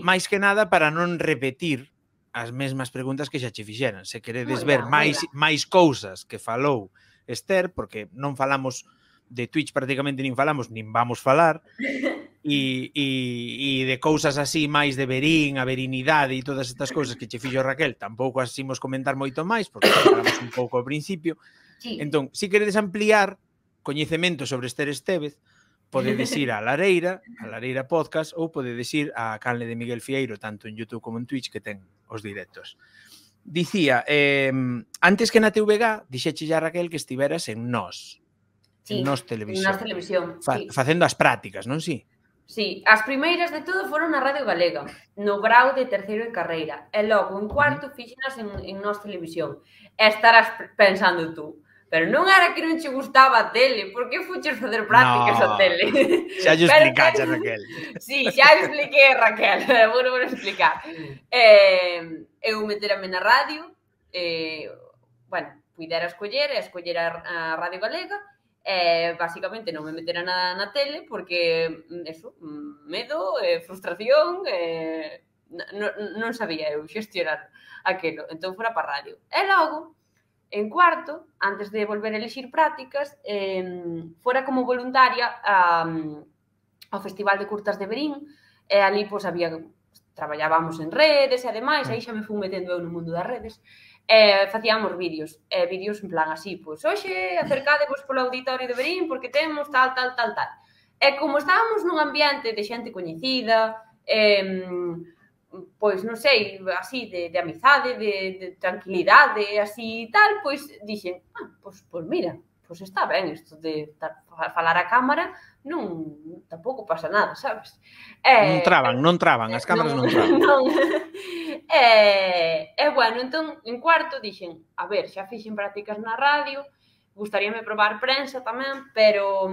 Mais que nada para non repetir as mesmas preguntas que xa che fixeran. Se queredes ver máis cousas que falou Esther, porque non falamos de Twitch prácticamente nin falamos, nin vamos falar, e de cousas así máis de verín, a verinidade e todas estas cousas que che fixo Raquel, tampouco as imos comentar moito máis, porque falamos un pouco ao principio. Entón, se queredes ampliar coñecemento sobre Esther Estévez, podedes ir a Lareira Podcast, ou podedes ir a canle de Miguel Fieiro, tanto en YouTube como en Twitch, que ten os directos. Dicía, antes que na TVG, dixeche a Raquel que estiveras en Nós. Sí, en Nós Televisión. Facendo as prácticas, non si? Sí, as primeiras de todo foron na Radio Galega, no grau de terceiro de carreira. E logo, en cuarto, fixenas en Nós Televisión. E estarás pensando tú, pero non era que non che gustaba a tele, por que fuches facer prácticas a tele? Xa lle explicaxe, Raquel. Sí, xa expliquei, Raquel, vou explicar. Eu meterame na radio, bueno, puidera escoller a Radio Galega, basicamente non me metera na tele porque, eso, medo, frustración, non sabía eu xestionar aquilo, entón fora para radio. E logo, en cuarto, antes de volver a elixir prácticas, fora como voluntaria ao Festival de Curtas de Verín, e ali, pois, traballábamos en redes, e ademais, aí xa me fui metendo eu no mundo das redes, facíamos vídeos en plan así, pois, hoxe acercadevos polo auditorio de Verín porque temos tal. E como estábamos nun ambiente de xente coñecida, pois, non sei, así, de amizade, de tranquilidade, así tal, pois, dixen, pois mira, pois está ben isto de falar a cámara, tampouco pasa nada, sabes? Non traban, as cámaras non traban. Bueno, entón, en cuarto dixen, a ver, xa fixen prácticas na radio, gustaríame probar prensa tamén, pero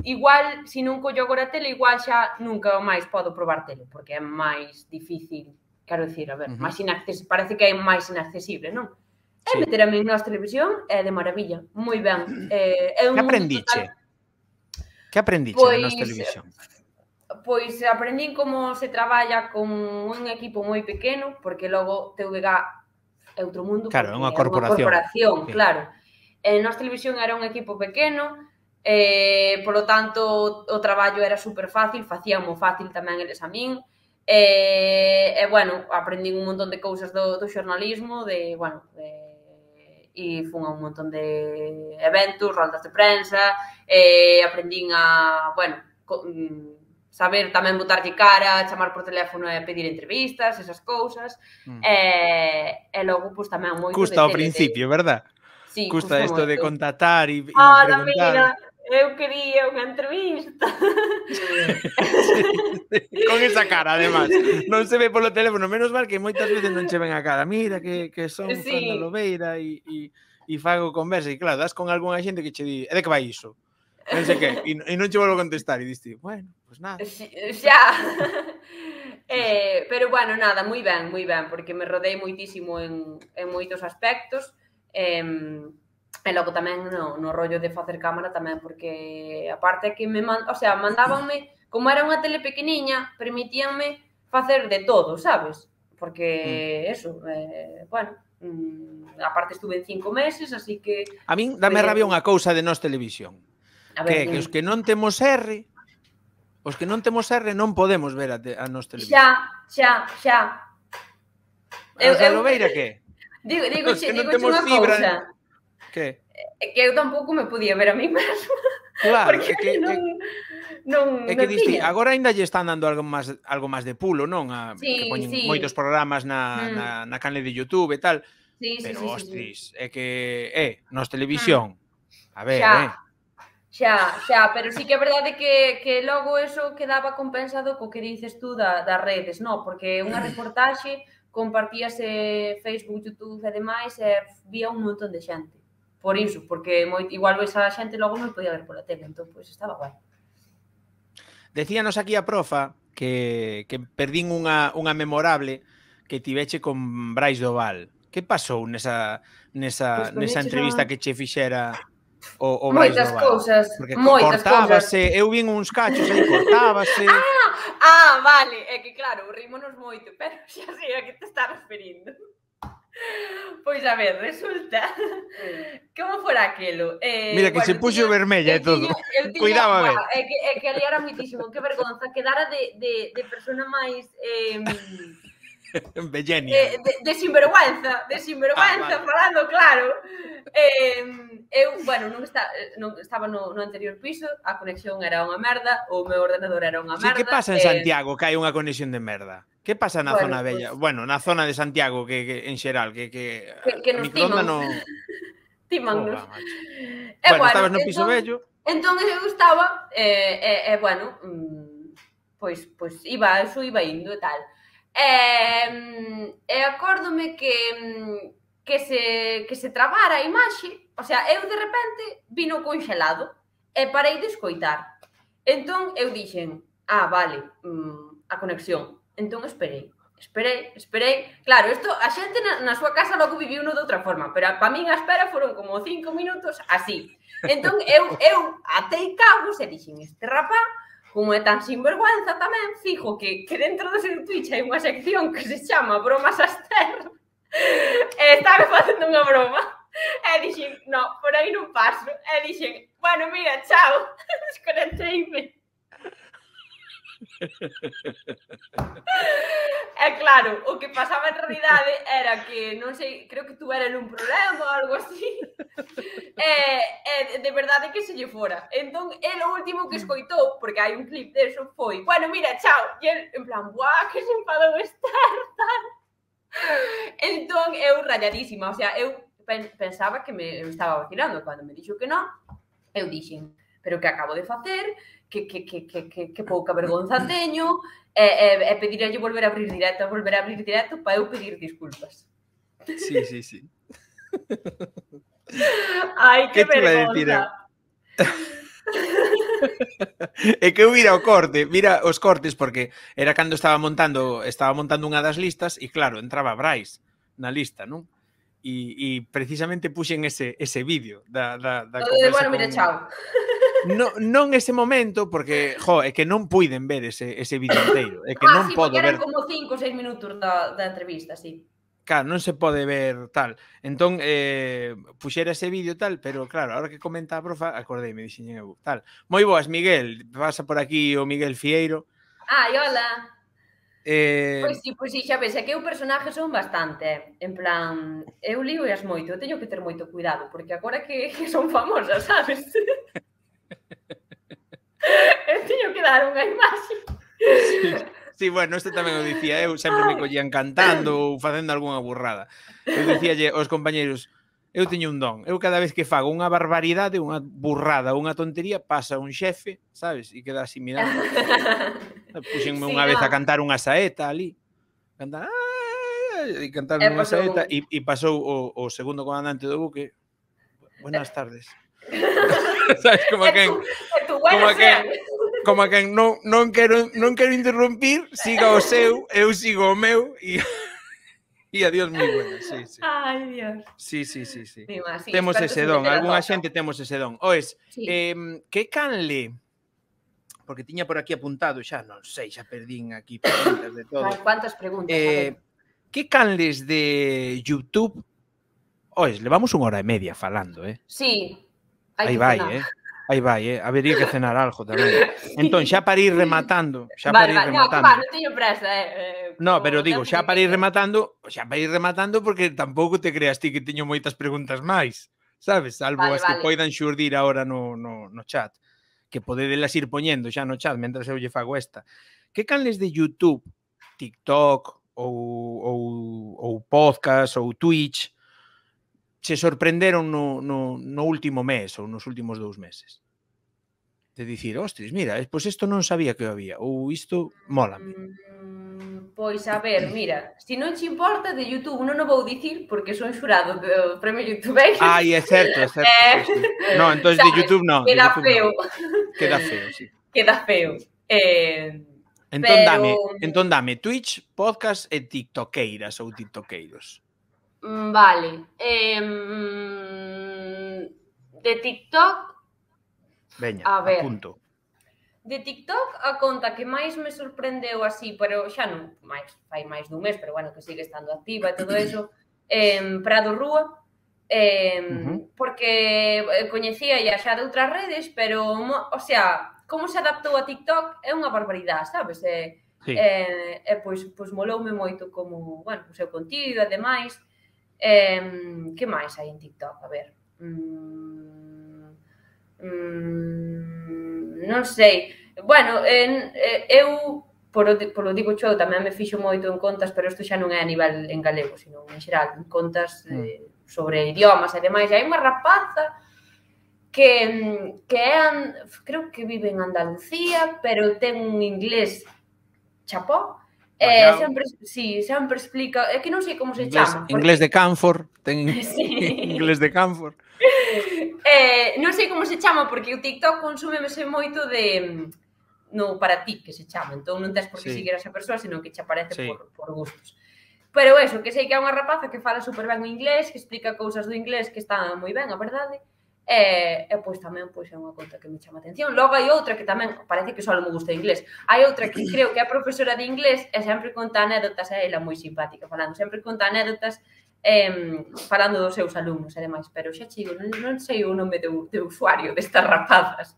igual, se non collo agora a tele, igual xa nunca máis podo probar tele, porque é máis difícil, quero dicir, a ver, parece que é máis inaccesible, non? E meterame en Nós Televisión é de maravilla, moi ben. Que aprendiche? Que aprendiche en Nós Televisión? Pois aprendín como se traballa con un equipo moi pequeno, porque logo TVG é outro mundo. Claro, é unha corporación. Claro. Nós Televisión era un equipo pequeno, polo tanto, o traballo era super fácil, facíamos fácil tamén eles a min, bueno, aprendín un montón de cousas do xornalismo, e fun a un montón de eventos, roldas de prensa, aprendín a, bueno, saber tamén botarlle cara, chamar por teléfono e pedir entrevistas, esas cousas, e logo, pois, tamén moito custa ao principio, verdad? Sí, custa isto de contactar e preguntar. Mira, eu quería unha entrevista. Con esa cara, además. Non se ve polo teléfono, menos mal que moitas veces non che ven a cara. Mira que son Fran da Lobeira e fago conversa. E claro, das con algunha xente que che di, de que vai iso? Non sei que, e non che volvo a contestar. E diste, bueno, pues nada. Xa. Pero bueno, nada, moi ben, porque me rodei moitísimo en moitos aspectos. E logo tamén no rollo de facer cámara tamén, porque aparte que mandábanme, como era unha tele pequeniña, permitíanme facer de todo, sabes? Porque eso, bueno, aparte estuve en 5 meses, así que... A min dame rabia unha cousa de Nós Televisión, que os que non temos R, non podemos ver a Nós Televisión. Xa. A Lobeira que? Digo unha cousa. Que? Que eu tampouco me podía ver a mí mesmo. Claro, porque non diste, agora ainda lle están dando algo máis de pulo, non? Que poñen moitos programas na canle de YouTube e tal. Pero, ostris, é que Nós Televisión. A ver, Xa, pero sí que é verdade que logo eso quedaba compensado co que dices tú das redes, non? Porque unha reportaxe compartíase Facebook, YouTube e demais e vía un montón de xente. Por iso, porque igual esa xente logo non podía ver pola tele, entón, pois, estaba guai. Decíanos aquí a profa que perdín unha memorable que tiveche con Brais Doval. Que pasou nesa entrevista que che fixera o Brais Doval? Moitas cousas, cortábase, eu vin uns cachos aí, cortábase... Vale, é que claro, rímonos moito, pero xa sei a que te estás referindo. Pois a ver, resulta como fora aquilo. Mira que se puxo vermella e todo. Cuidado a ver. É que ali era mitísimo, que vergonza, quedara de persona máis de sinvergüenza, falando claro. Bueno, non estaba no anterior piso, a conexión era unha merda, o meu ordenador era unha merda. Sí, que pasa en Santiago que hai unha conexión de merda? Que pasa na zona bella? Bueno, na zona de Santiago que en xeral, que a microonda non... Tímannos. Bueno, estabas no piso bello. Entón eu estaba, bueno, pois iba indo e tal. E acórdome que se trabara a imaxe, o sea, eu de repente vino congelado e parei de escoitar. Entón eu dixen, vale, a conexión. Entón esperei. Claro, isto a xente na súa casa logo viviuno de outra forma, pero para min a espera foron como 5 minutos así. Entón eu atei cabos e dixen, este rapá, como é tan sinvergüenza tamén, fijo que dentro do seu Twitch hai unha sección que se chama Bromas Aster e estaba facendo unha broma. E dixen, no, por aí non paso. E dixen, bueno, mira, chao, desconecteime. E claro, o que pasaba en realidade era que, non sei, creo que tuvera un problema ou algo así. De verdade que se lle fora. Entón, el o último que escoitou, porque hai un clip deso, foi, bueno, mira, chao. E el, en plan, buah, que se enfadou Esther, tal. Entón, eu rayadísima, o sea, eu pensaba que me estaba vacilando. Cando me dixo que non, eu dixen, pero que acabo de facer, que pouca vergonza teño, e pedirlle volver a abrir directo para eu pedir disculpas. Sí. Ai, que vergonza. É que eu mira os cortes, porque era cando estaba montando unha das listas e claro, entraba Brais na lista, non? E precisamente puxen ese vídeo da conversa. Bueno, mira, chao. Non ese momento, porque, é que non puiden ver ese vídeo inteiro. É que non podo ver. Eran como 5 ou 6 minutos da entrevista, sí. Claro, non se pode ver tal. Entón, puxera ese vídeo tal, pero claro, a hora que comenta a profa, acordeime, dixen eu, tal. Moi boas, Miguel. Pasa por aquí o Miguel Fieiro. Hola. Pois sí, xa ves, é que eu personajes son bastante, en plan, eu lío as moito, eu teño que ter moito cuidado, porque agora que son famosa, sabes? Eu teño que dar unha imaxe. Sí, bueno, isto tamén o dicía eu, sempre me collían cantando ou facendo algunha burrada. Eu dicíalle aos compañeiros, eu teño un don, eu cada vez que fago unha barbaridade, unha burrada, unha tontería, pasa un xefe, sabes, e queda así mirando. Puxenme unha vez a cantar unha saeta ali, cantar unha saeta, e pasou o segundo comandante do buque, buenas tardes. Sabes, como a quen non quero interrumpir, siga o seu, eu sigo o meu e adiós moi buenas, sí. Ai, Dios. Sí. Temos ese don, algunha xente temos ese don. Oes, que canle, porque tiña por aquí apuntado, xa non sei, xa perdín aquí preguntas de todo. Cuántas preguntas, a ver. Que canles de YouTube? Oes, levamos 1 hora e media falando, Sí. Aí vai, habería que cenar algo tamén. Entón, xa para ir rematando, Vale, non teño presa, No, pero digo, xa para ir rematando, porque tampouco te creas ti que teño moitas preguntas máis, sabes? Salvo as que poidan xurdir agora no chat, que podedelas ir poñendo xa no chat mentras eu lle fago esta. Que canles de YouTube, TikTok ou podcast ou Twitch se sorprenderon no último mes ou nos últimos 2 meses? De dicir, ostras, mira, pois isto non sabía que había, ou isto mólame. Pois a ver, mira, se non te importa de YouTube non o vou dicir porque son xurado do Premio YouTube. Ai, é certo. No, entón de YouTube non. Queda feo. Sí. Queda feo. Entón dame Twitch, podcast e tiktokeiras ou tiktoqueiros. Vale. De TikTok. Veña, apunto. De TikTok, a conta que máis me sorprendeu así, pero xa non fai máis dun mes, pero bueno, que sigue estando activa e todo eso, Prado Rúa, porque coñecía xa de outras redes, pero, o sea, como se adaptou a TikTok é unha barbaridade, sabes? Pois moloume moito como, bueno, o seu contido e demais. Que máis hai en TikTok? A ver... non sei. Bueno, eu, polo digo eu, tamén me fixo moito en contas, pero isto xa non é a nivel en galego, sino en xeral, en contas sobre idiomas e demais. Hai unha rapaza que creo que vive en Andalucía, pero ten un inglés chapó. Sempre explica, é que non sei como se chama. Inglés de Canfor, ten inglés de Canfor. Non sei como se chama, porque o TikTok consúmese moito de no para ti, que se chama. Entón non tens por que seguir a esa persoa, senón que te aparece por gustos. Pero eso, que sei que é unha rapaza que fala super ben o inglés, que explica cousas do inglés que están moi ben, a verdade. E pois tamén é unha conta que me chama a atención. Logo hai outra que tamén parece que só me gusta o inglés. Hai outra que creo que é profesora de inglés e sempre conta anécdotas, é ela moi simpática falando, sempre conta anécdotas falando dos seus alumnos e demais, pero xa chigo, non sei o nome de usuario destas rapazas.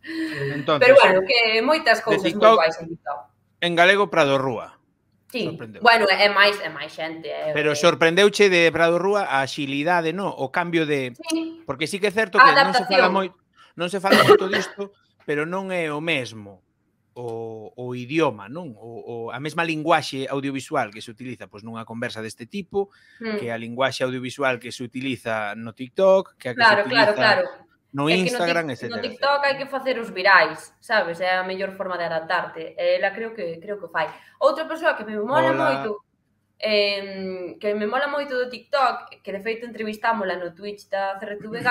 Entonces, pero bueno, que moitas cousas moi guais en TikTok. En galego, Prado Rúa. Sí, bueno, é máis xente. Pero sorprendeuche de Prado Rúa a axilidade, non? O cambio de... Porque sí que é certo que non se fala moito disto, pero non é o mesmo o idioma, non? A mesma linguaxe audiovisual que se utiliza pois nunha conversa deste tipo, que a linguaxe audiovisual que se utiliza no TikTok, que a que se utiliza no Instagram, etc. No TikTok hai que facer os virais, sabes? É a mellor forma de adaptarte. Ela creo que fai. Outra persoa que me mola moito, do TikTok, que de feito entrevistámola no Twitch da CRTVG,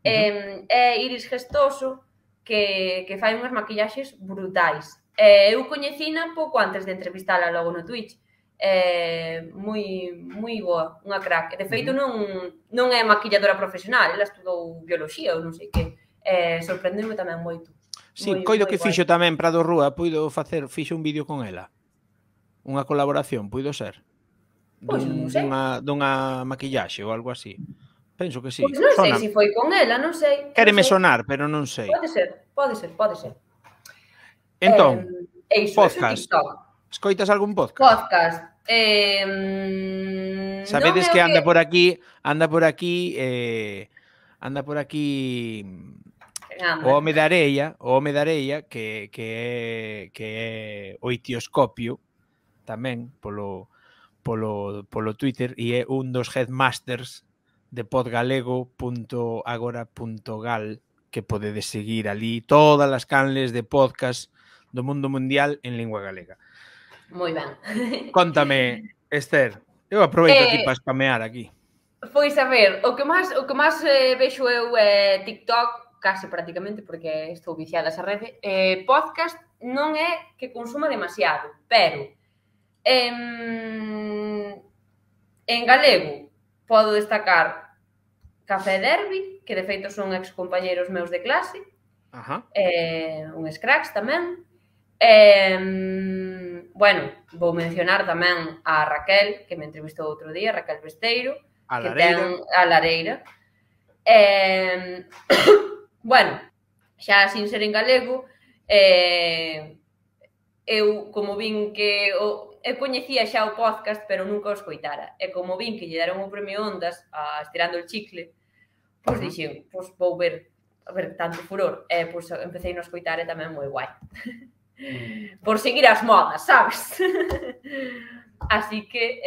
é Iris Gestoso, que fai unhas maquillaxes brutais. Eu coñecina pouco antes de entrevistala logo no Twitch. Moi boa, unha crack. De feito, non é maquilladora profesional, ela estudou bioloxía ou non sei que. Sorprendeu-me tamén moito. Sí, coido que fixo tamén Prado Rúa, fixo un vídeo con ela. Unha colaboración, puido ser? Pois non sei. Dunha maquillaxe ou algo así. Penso que sí. Pois non sei se foi con ela, non sei. Quéreme sonar, pero non sei. Pode ser. Entón, podcast. Escoitas algún podcast? Sabedes que anda por aquí o home da areia que é o Itioscopio tamén polo Twitter e é un dos headmasters de podgalego.agora.gal que podedes seguir ali todas as canles de podcast do mundo mundial en lingua galega. Moi ben. Contame, Esther, eu aproveito aquí para spamear aquí. Pois a ver, o que máis vexo eu é TikTok, case prácticamente, porque estou viciada esa rede. Podcast non é que consuma demasiado, pero en galego podo destacar Café Derby, que de feito son excompañeiros meus de clase, uns cracks tamén. Bueno, vou mencionar tamén a Raquel, que me entrevistou outro día, Raquel Besteiro, que ten a Lareira. Bueno, xa sin ser en galego, eu como vin que eu coñecía xa o podcast, pero nunca o escoitara. E como vin que lle deron o premio Ondas a Estirando el Chicle, pois dixen, pois vou ver tanto furor. E pois empecé a escoitar e tamén moi guai. Por seguir as modas, sabes? Así que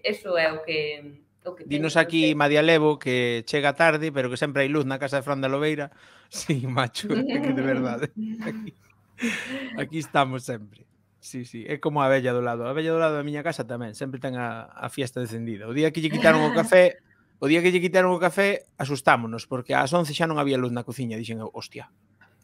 eso é o que dinos aquí Madia Levo que chega tarde, pero que sempre hai luz na casa de Fran de Lobeira. Sí, macho, é que de verdade. Aquí estamos sempre. Sí, é como a vella do lado. A vella do lado da miña casa tamén, sempre ten a fiesta encendida. O día que lle quitaron o café, asustámonos, porque ás 11 xa non había luz na cociña. Dixen, hostia,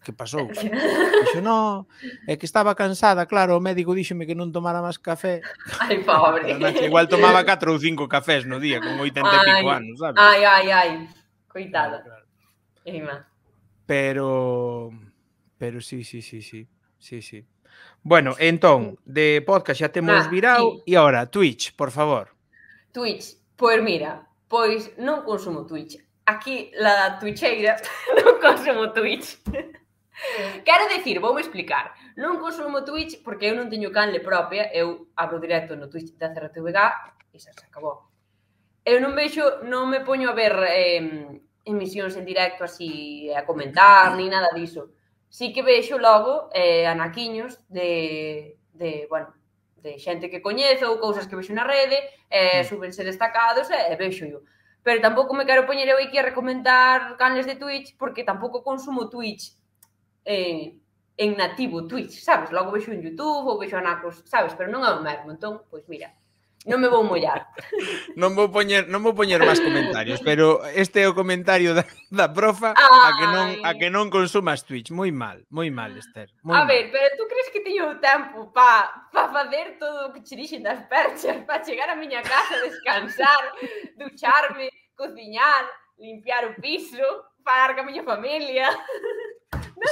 que pasou? Dixo, no, é que estaba cansada, claro, o médico díxome que non tomara máis café. Ai, pobre. Igual tomaba 4 ou 5 cafés no día, con 80 e pico anos, sabes? Ai, coitada. Pero sí. Bueno, entón, de podcast xa temos virao e agora, Twitch, por favor. Twitch, pois mira, Pois non consumo Twitch. Aquí, la twitcheira, non consumo Twitch. Quero dicir, voume explicar. Non consumo Twitch porque eu non teño canle propia. Eu abro directo no Twitch da CRTVG e xa se acabou. Eu non me poño a ver emisións en directo así a comentar, ni nada diso. Sí que vexo logo anaquiños de xente que coñezo ou cousas que vexo na rede, súbense destacados e vexo yo. Pero tampouco me quero poñer eu aquí a recomendar canles de Twitch porque tampouco consumo Twitch en nativo Twitch, sabes? Logo vexo en YouTube ou vexo anacos, sabes? Pero non é o mesmo, entón, pois mira, non me vou mollar. Non vou poñer máis comentarios, pero este é o comentario da profa a que non consumas Twitch. Moi mal, Esther. A ver, pero tú crees que teño tempo para facer todo o que che dixen das perchas, para chegar á miña casa, descansar, ducharme, cociñar, limpiar o piso, falar ca miña familia...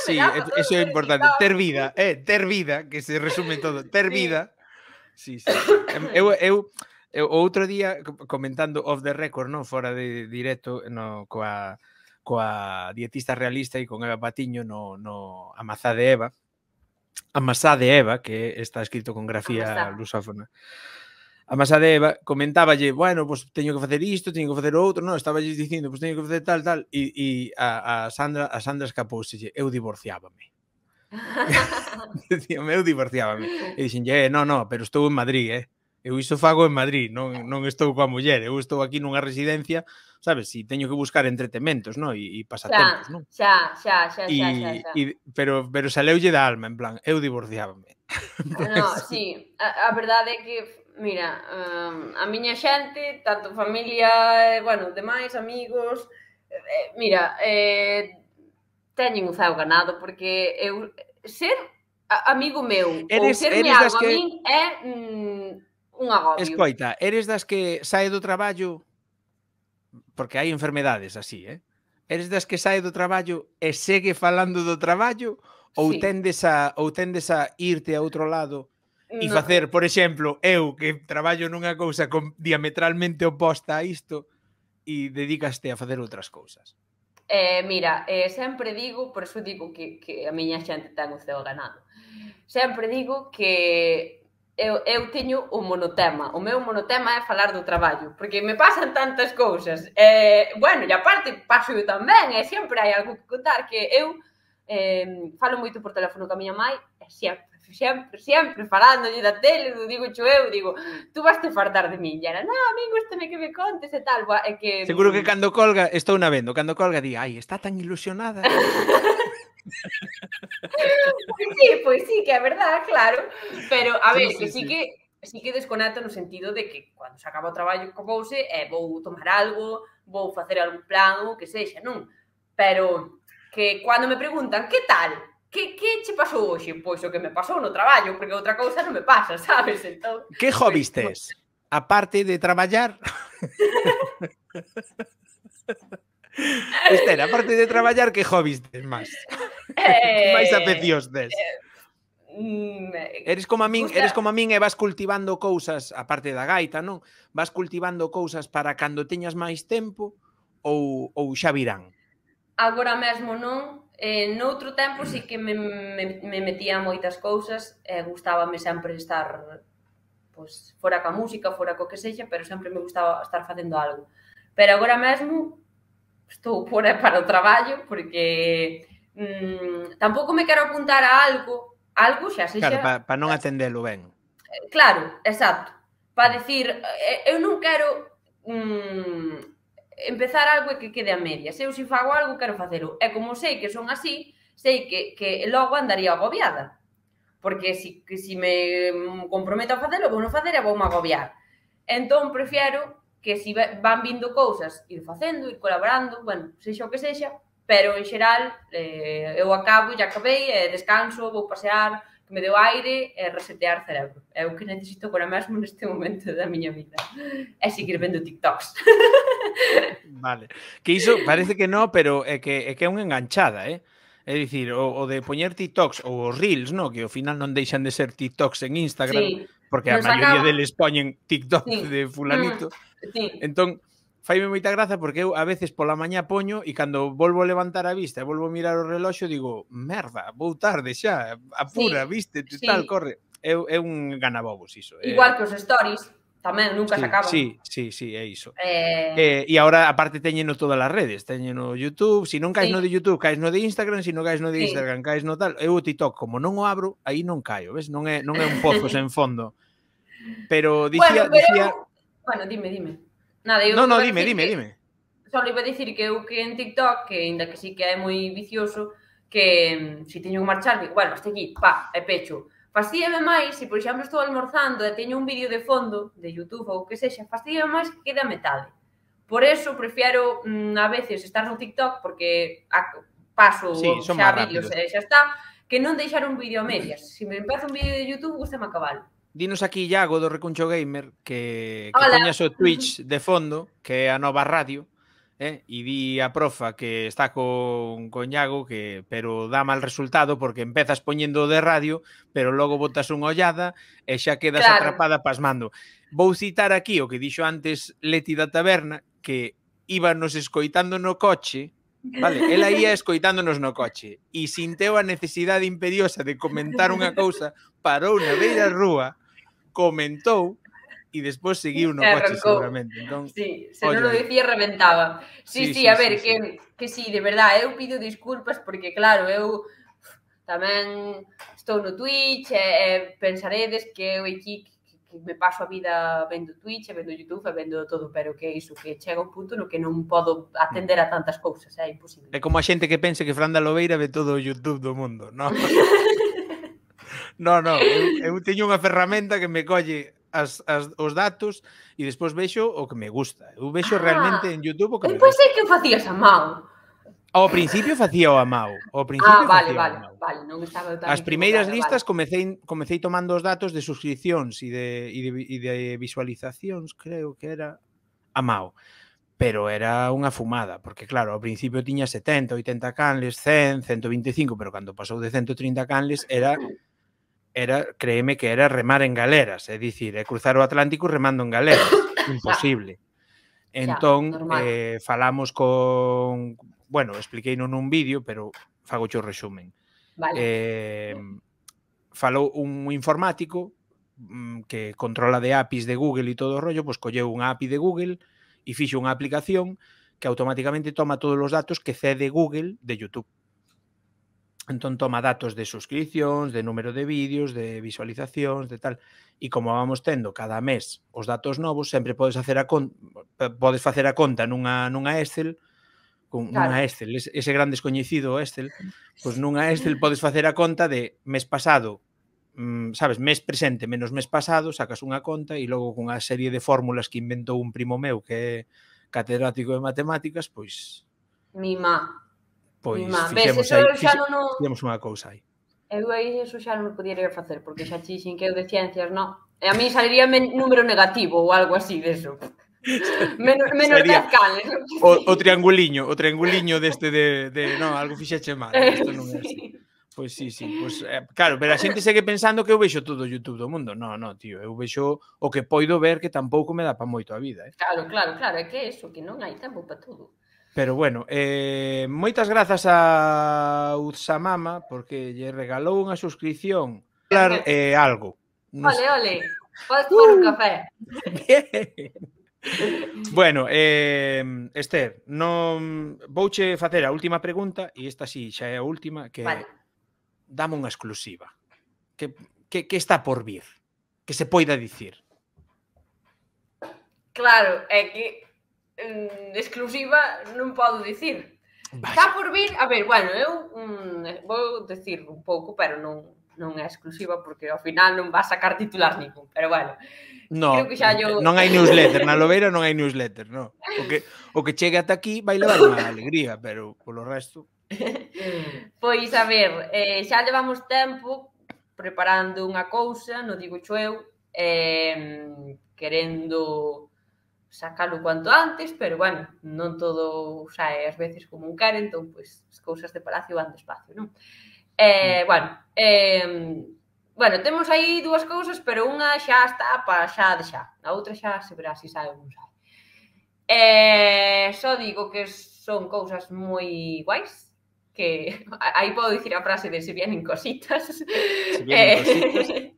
Sí, eso é importante. Ter vida, que se resume todo. Ter vida. Sí. Eu o outro día comentando off the record, non, fora de directo, coa dietista realista e con Eva Patiño no Amasá de Eva, que está escrito con grafía lusófona. Amasá de Eva, comentáballe, bueno, pues teño que facer isto, teño que facer outro, non, estáballes dicindo, pues teño que facer tal, e a Sandra escapouselle, eu divorciábame. Dicíame, eu divorciábame. E dixenlle, no, pero estou en Madrid, eu iso fago en Madrid, non estou coa muller, eu estou aquí nunha residencia, sabes, si teño que buscar entretementos, non, e pasatempos, non? Xa. Pero saleulle da alma, en plan, eu divorciábame. No, sí, a verdade é que mira, a miña xente, tanto familia, demais, amigos, mira, teñen o ceo ganado, porque eu ser amigo meu ou serme algo a min é un agobio. Escoita, eres das que sae do traballo, porque hai enfermedades así, eres das que sae do traballo e segue falando do traballo ou tendes a irte a outro lado e facer, por exemplo, eu que traballo nunha cousa diametralmente oposta a isto e dedicaste a facer outras cousas? Mira, sempre digo, por eso digo que a miña xente ten o ceo ganado. Sempre digo que eu teño o monotema. O meu monotema é falar do traballo, porque me pasan tantas cousas. E aparte paso eu tamén, e sempre hai algo que contar, que eu falo moito por teléfono ca miña mai, e sempre falándolle da tele, digo, tú vas te fartar de min, e era, non, a min gústame que me contes e tal, é que... Seguro que cando colga, estou na vendo, cando colga di, ai, está tan ilusionada. Pois sí, que é verdade, claro, pero, a ver, que sí que desconecto no sentido de que, cando se acaba o traballo, copouse, vou tomar algo, vou facer algún plan, ou que sexa, non? Pero, que cando me preguntan, que tal? Que che pasou hoxe? Pois o que me pasou no traballo, porque outra cousa non me pasa, sabes? Entón, que hobbies tes? Aparte de traballar? Esther, aparte de traballar, que hobbies tes máis? Que máis afeccións tes? Eres como a min e vas cultivando cousas, aparte da gaita, non? Vas cultivando cousas para cando teñas máis tempo ou xa virán? Agora mesmo non. Noutro tempo sí que me metía moitas cousas, gustábame sempre estar fora ca música, fora co que sexa, pero sempre me gustaba estar facendo algo. Pero agora mesmo estou fora para o traballo, porque tampouco me quero apuntar a algo xa sexa... Claro, para non atendelo ben. Claro, exacto. Para decir, eu non quero... empezar algo e que quede a medias. Eu, se fago algo, quero facelo. E como sei que son así, sei que logo andaría agobiada. Porque se me comprometo a facelo, vou non facer e vou me agobiar. Entón, prefiero que se van vindo cousas, ir facendo, ir colaborando, sexa o que sexa, pero, en xeral, eu acabo, já acabei, descanso, vou pasear, que me deu aire e resetear cerebro. É o que necesito agora mesmo neste momento da miña vida. É seguir vendo TikToks. Vale. Que iso parece que non, pero é que é unha enganchada, É dicir, o de poñer TikToks ou os Reels, que ao final non deixan de ser TikToks en Instagram, porque a maioría deles poñen TikTok de fulanito. Entón, faime moita graza porque eu a veces pola mañá poño e cando volvo a levantar a vista e volvo a mirar o reloxo digo, merda, vou tarde xa, apura, viste, tal, corre. É un ganabobos iso. Igual que os stories, tamén nunca se acaban. Sí, é iso. E agora, aparte, teñeno todas as redes. Teñeno YouTube, se non caes no de YouTube, caes no de Instagram, se non caes no de Instagram, caes no tal. Eu o TikTok, como non o abro, aí non caio, ves? Non é un pozo sen fondo. Pero dicía... Bueno, dime. Nada, eu no, dime. Só iba a dicir que eu que en TikTok, que ainda que sí que é moi vicioso, que se teño que marchar, bueno, hasta aquí, e pecho. Fastíame máis, se por exemplo estou almorzando e teño un vídeo de fondo de YouTube ou que sexa, fastíame máis que quede a metade. Por eso prefiero a veces estar no TikTok porque paso xa vídeos e xa está, que non deixar un vídeo a medias. Se me empezo un vídeo de YouTube, gustame acabalo. Dinos aquí Iago do Recuncho Gamer que poñas o Twitch de fondo, que é a nova radio, e di a profa que está con Iago, pero dá mal resultado porque empezas poñendo de radio, pero logo botas unha ollada e xa quedas atrapada pasmando. Vou citar aquí o que dixo antes Leti da Taberna, que íbanos escoitando no coche, vale, ela ia escoitándonos no coche e sinteu a necesidade imperiosa de comentar unha cousa, parou na beira rúa, comentou e despois seguiu no coche seguramente. Entón, sí, se non lo dicía reventaba. Sí, a ver, que sí, de verdade, eu pido disculpas porque claro, eu tamén estou no Twitch e pensaredes que eu aquí que me paso a vida vendo Twitch, vendo YouTube, vendo todo, pero que iso, que chega un punto no que non podo atender a tantas cousas, é imposible. É como a xente que pense que Fran da Lobeira ve todo o YouTube do mundo, non? No, eu teño unha ferramenta que me colle os datos e despois vexo o que me gusta. Eu vexo realmente en YouTube o que me gusta. Pois é que o facías a mao. Ao principio facía o a mao. Vale, non estaba tan... As primeiras listas comecei tomando os datos de suscripcións e de visualizacións, creo que era a mao. Pero era unha fumada, porque claro, ao principio tiña 70, 80 canles, 100, 125, pero cando pasou de 130 canles créeme que era remar en galeras, é dicir, cruzar o Atlántico remando en galeras, imposible. Entón, falamos con... Bueno, expliqueino nun vídeo, pero fago o resumen. Falou un informático que controla de APIs de Google e todo o rollo, pois colleu unha API de Google e fixo unha aplicación que automáticamente toma todos os datos que cede Google de YouTube. Entón toma datos de suscripcións, de número de vídeos, de visualizacións, de tal. E como vamos tendo cada mes os datos novos, sempre podes facer a conta nunha Excel, nunha Excel, ese gran descoñecido Excel, pois nunha Excel podes facer a conta de mes pasado, sabes, mes presente menos mes pasado, sacas unha conta e logo cunha serie de fórmulas que inventou un primo meu que é catedrático de matemáticas, pois... Pois fixemos unha cousa aí. Eu aí eso xa non podería facer, porque xa chixen que eu de ciencias, non. E a mí saliría número negativo ou algo así deso. Menos 10 canles. O trianguliño deste de non, algo fixeche mal. Isto non é así. Pois sí. Pois, claro, pero a xente segue pensando que eu vexo todo o YouTube do mundo. Non, tío, eu vexo o que poido ver que tampouco me dá pa moito a vida. Claro, é que eso, que non hai tempo pa todo. Pero bueno, moitas grazas a Uzamama porque lle regalou unha suscripción algo. Ole, podes tomar un café. Bien. Bueno, Esther, vouche facer a última pregunta e esta sí, xa é a última, que dame unha exclusiva. Que está por vir? Que se poida dicir? Claro, é que exclusiva non podo dicir. Está por vir, a ver, bueno, eu vou dicir un pouco, pero non é exclusiva porque ao final non va a sacar titular ningún, pero bueno. Non hai newsletter, na Lobeira non hai newsletter, non. O que chegue ata aquí vai levar unha alegría, pero polo resto... Pois, a ver, xa levamos tempo preparando unha cousa, non digo xo eu, querendo sacalo cuanto antes, pero, bueno, non todo sae ás veces como un quere, entón, pois, as cousas de palacio van despacio, non? Bueno, temos aí dúas cousas, pero unha xa está para xa de xa. A outra xa se verá se sae ou non sae. Só digo que son cousas moi guais, que aí podo dicir a frase de se vienen cositas. Se vienen cositas.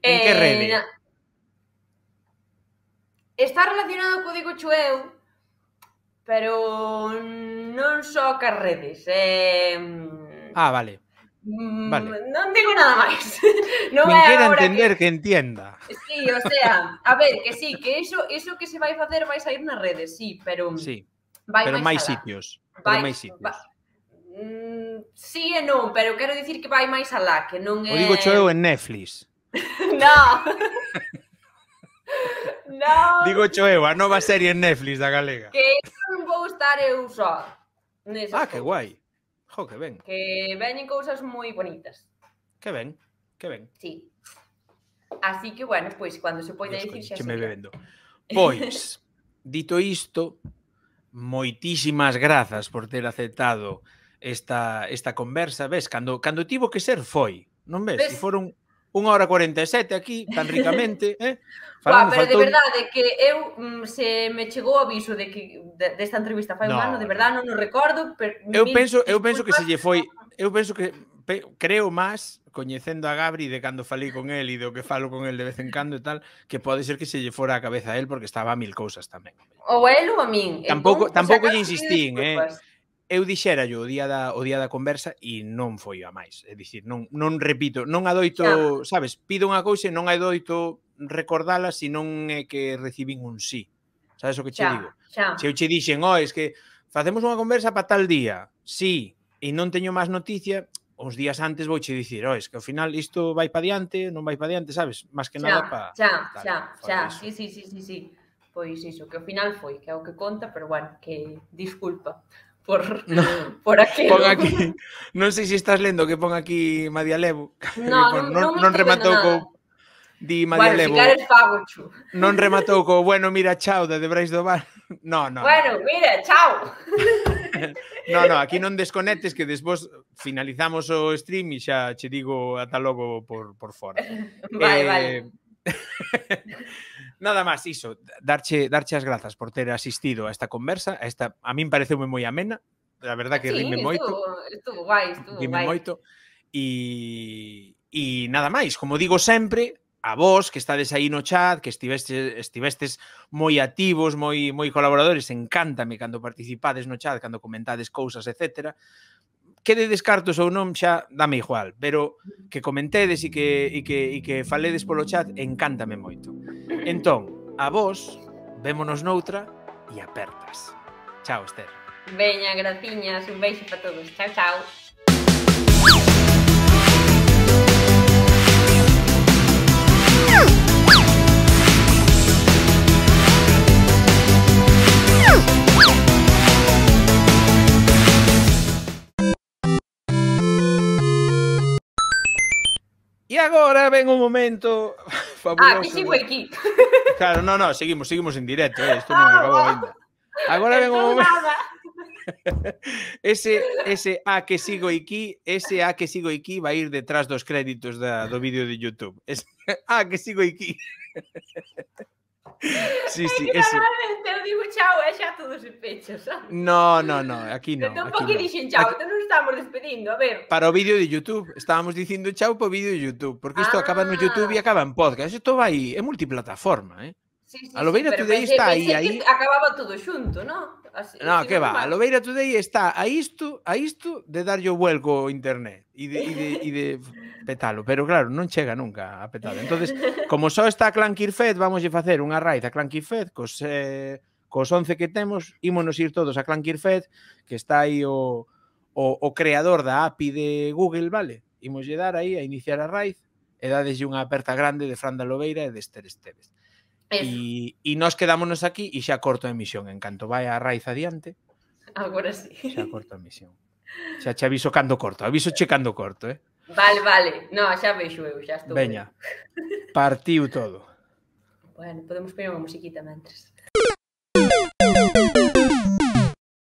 En que rede? Está relacionado co digo eu, pero non só cas redes. Vale. Non digo nada máis. Non Quen quera entender que entienda. Sí, o sea, a ver, que sí, que iso que se vai facer vai sair nas redes, sí, pero sí, vai pero máis sitios. Pero máis sitios. Sí e non, pero quero dicir que vai máis alá, que non é... O digo eu en Netflix. Non. Non. Digo eu, a nova serie en Netflix da galega. Que non vou estar eu só. Que guai. Jo, que ben. Que veñen cousas moi bonitas. Que ben, que ben. Sí. Así que, bueno, pois, cando se poida dicir xa me bebendo. Pois, dito isto, moitísimas grazas por ter aceptado esta conversa. Ves, cando tivo que ser foi, non ves? Se foron 1h47 aquí, tan ricamente, Falando, pero de verdade que eu se me chegou o aviso de que desta entrevista fai un ano, de verdade non o recordo, pero eu penso que se lle foi, eu penso que creo máis coñecendo a Gabri de cando falei con el e do que falo con el de vez en cando e tal, que pode ser que se lle fora a cabeza a el porque estaba a 1000 cousas tamén. Ou el ou a min. Tampouco lle insistín, eu dixérallo o día da conversa e non foi a máis. É dicir, non repito, non adoito, sabes, pido unha cousa e non adoito recordala se non é que recibín un sí. Sabes o que che digo? Se eu che dixen, es que facemos unha conversa para tal día, sí, e non teño máis noticia, uns días antes vouche dicir, es que ao final isto vai para diante, non vai para diante, sabes? Más que nada para... Sí. Pois iso, que ao final foi, que é o que conta, pero bueno, que disculpa por aquilo. Pon aquí, non sei se estás lendo que pon aquí Madialevo. Non rematou co di Madialevo. Bueno, ficar fago, chu. Non rematou co, bueno, mira, chao, de Brais do Bar. No. Bueno, mira, chao. No, aquí non desconectes que despois finalizamos o stream e xa che digo ata logo por fora. Vale. Nada máis, iso, darche as grazas por ter asistido a esta conversa, a min pareceume moi amena, a verdad que rime moito. Estuvo guai. Rime moito. E nada máis, como digo sempre, a vos que estades aí no chat, que estivestes moi activos, moi colaboradores, encántame cando participades no chat, cando comentades cousas, etcétera. Quede descartos ou non, xa dame igual, pero que comentedes e que faledes polo chat, encántame moito. Entón, a vos, vémonos noutra e apertas. Chao, Esther. Veña, graciñas, un beijo para todos. Chao. E agora ven un momento fabuloso. Que sigo aquí. Claro, no, seguimos en directo, isto non acabou ainda. Agora ven un momento. Ese A que sigo aquí vai ir detrás dos créditos do vídeo de YouTube. Que sigo aquí. Sí, ese. Normalmente eu digo chao e xa todo se pecha, sabes? No, aquí non. Entón, por que dixen chao? Entón nos estamos despedindo, a ver. Para o vídeo de YouTube, estábamos dicindo chao para o vídeo de YouTube, porque isto acaba no YouTube e acaba en podcast. Isto vai, é multiplataforma, Sí, a Lobeira Today está aí. Acababa todo xunto, non? No, que va, a Lobeira Today está a isto de darlle o vuelco ao internet e de petalo, pero claro, non chega nunca a petalo. Entonces, como só está Clankirfed, vamos a facer unha raíz a Clankirfed cos 11 que temos, ímonos ir todos a Clankirfed, que está aí o creador da API de Google, vale? Imos lle dar aí a iniciar a raíz e dadeslle unha aperta grande de Fran da Lobeira e de Esther Esteves. E nós quedámonos aquí e xa corto a emisión. En canto vai a raíz adiante, agora sí. Xa corto a emisión. Xa che aviso cando corto. Aviso che cando corto, Vale. No, xa vexo eu, xa estou. Veña, partiu todo. Bueno, podemos poñer unha musiquita mentres.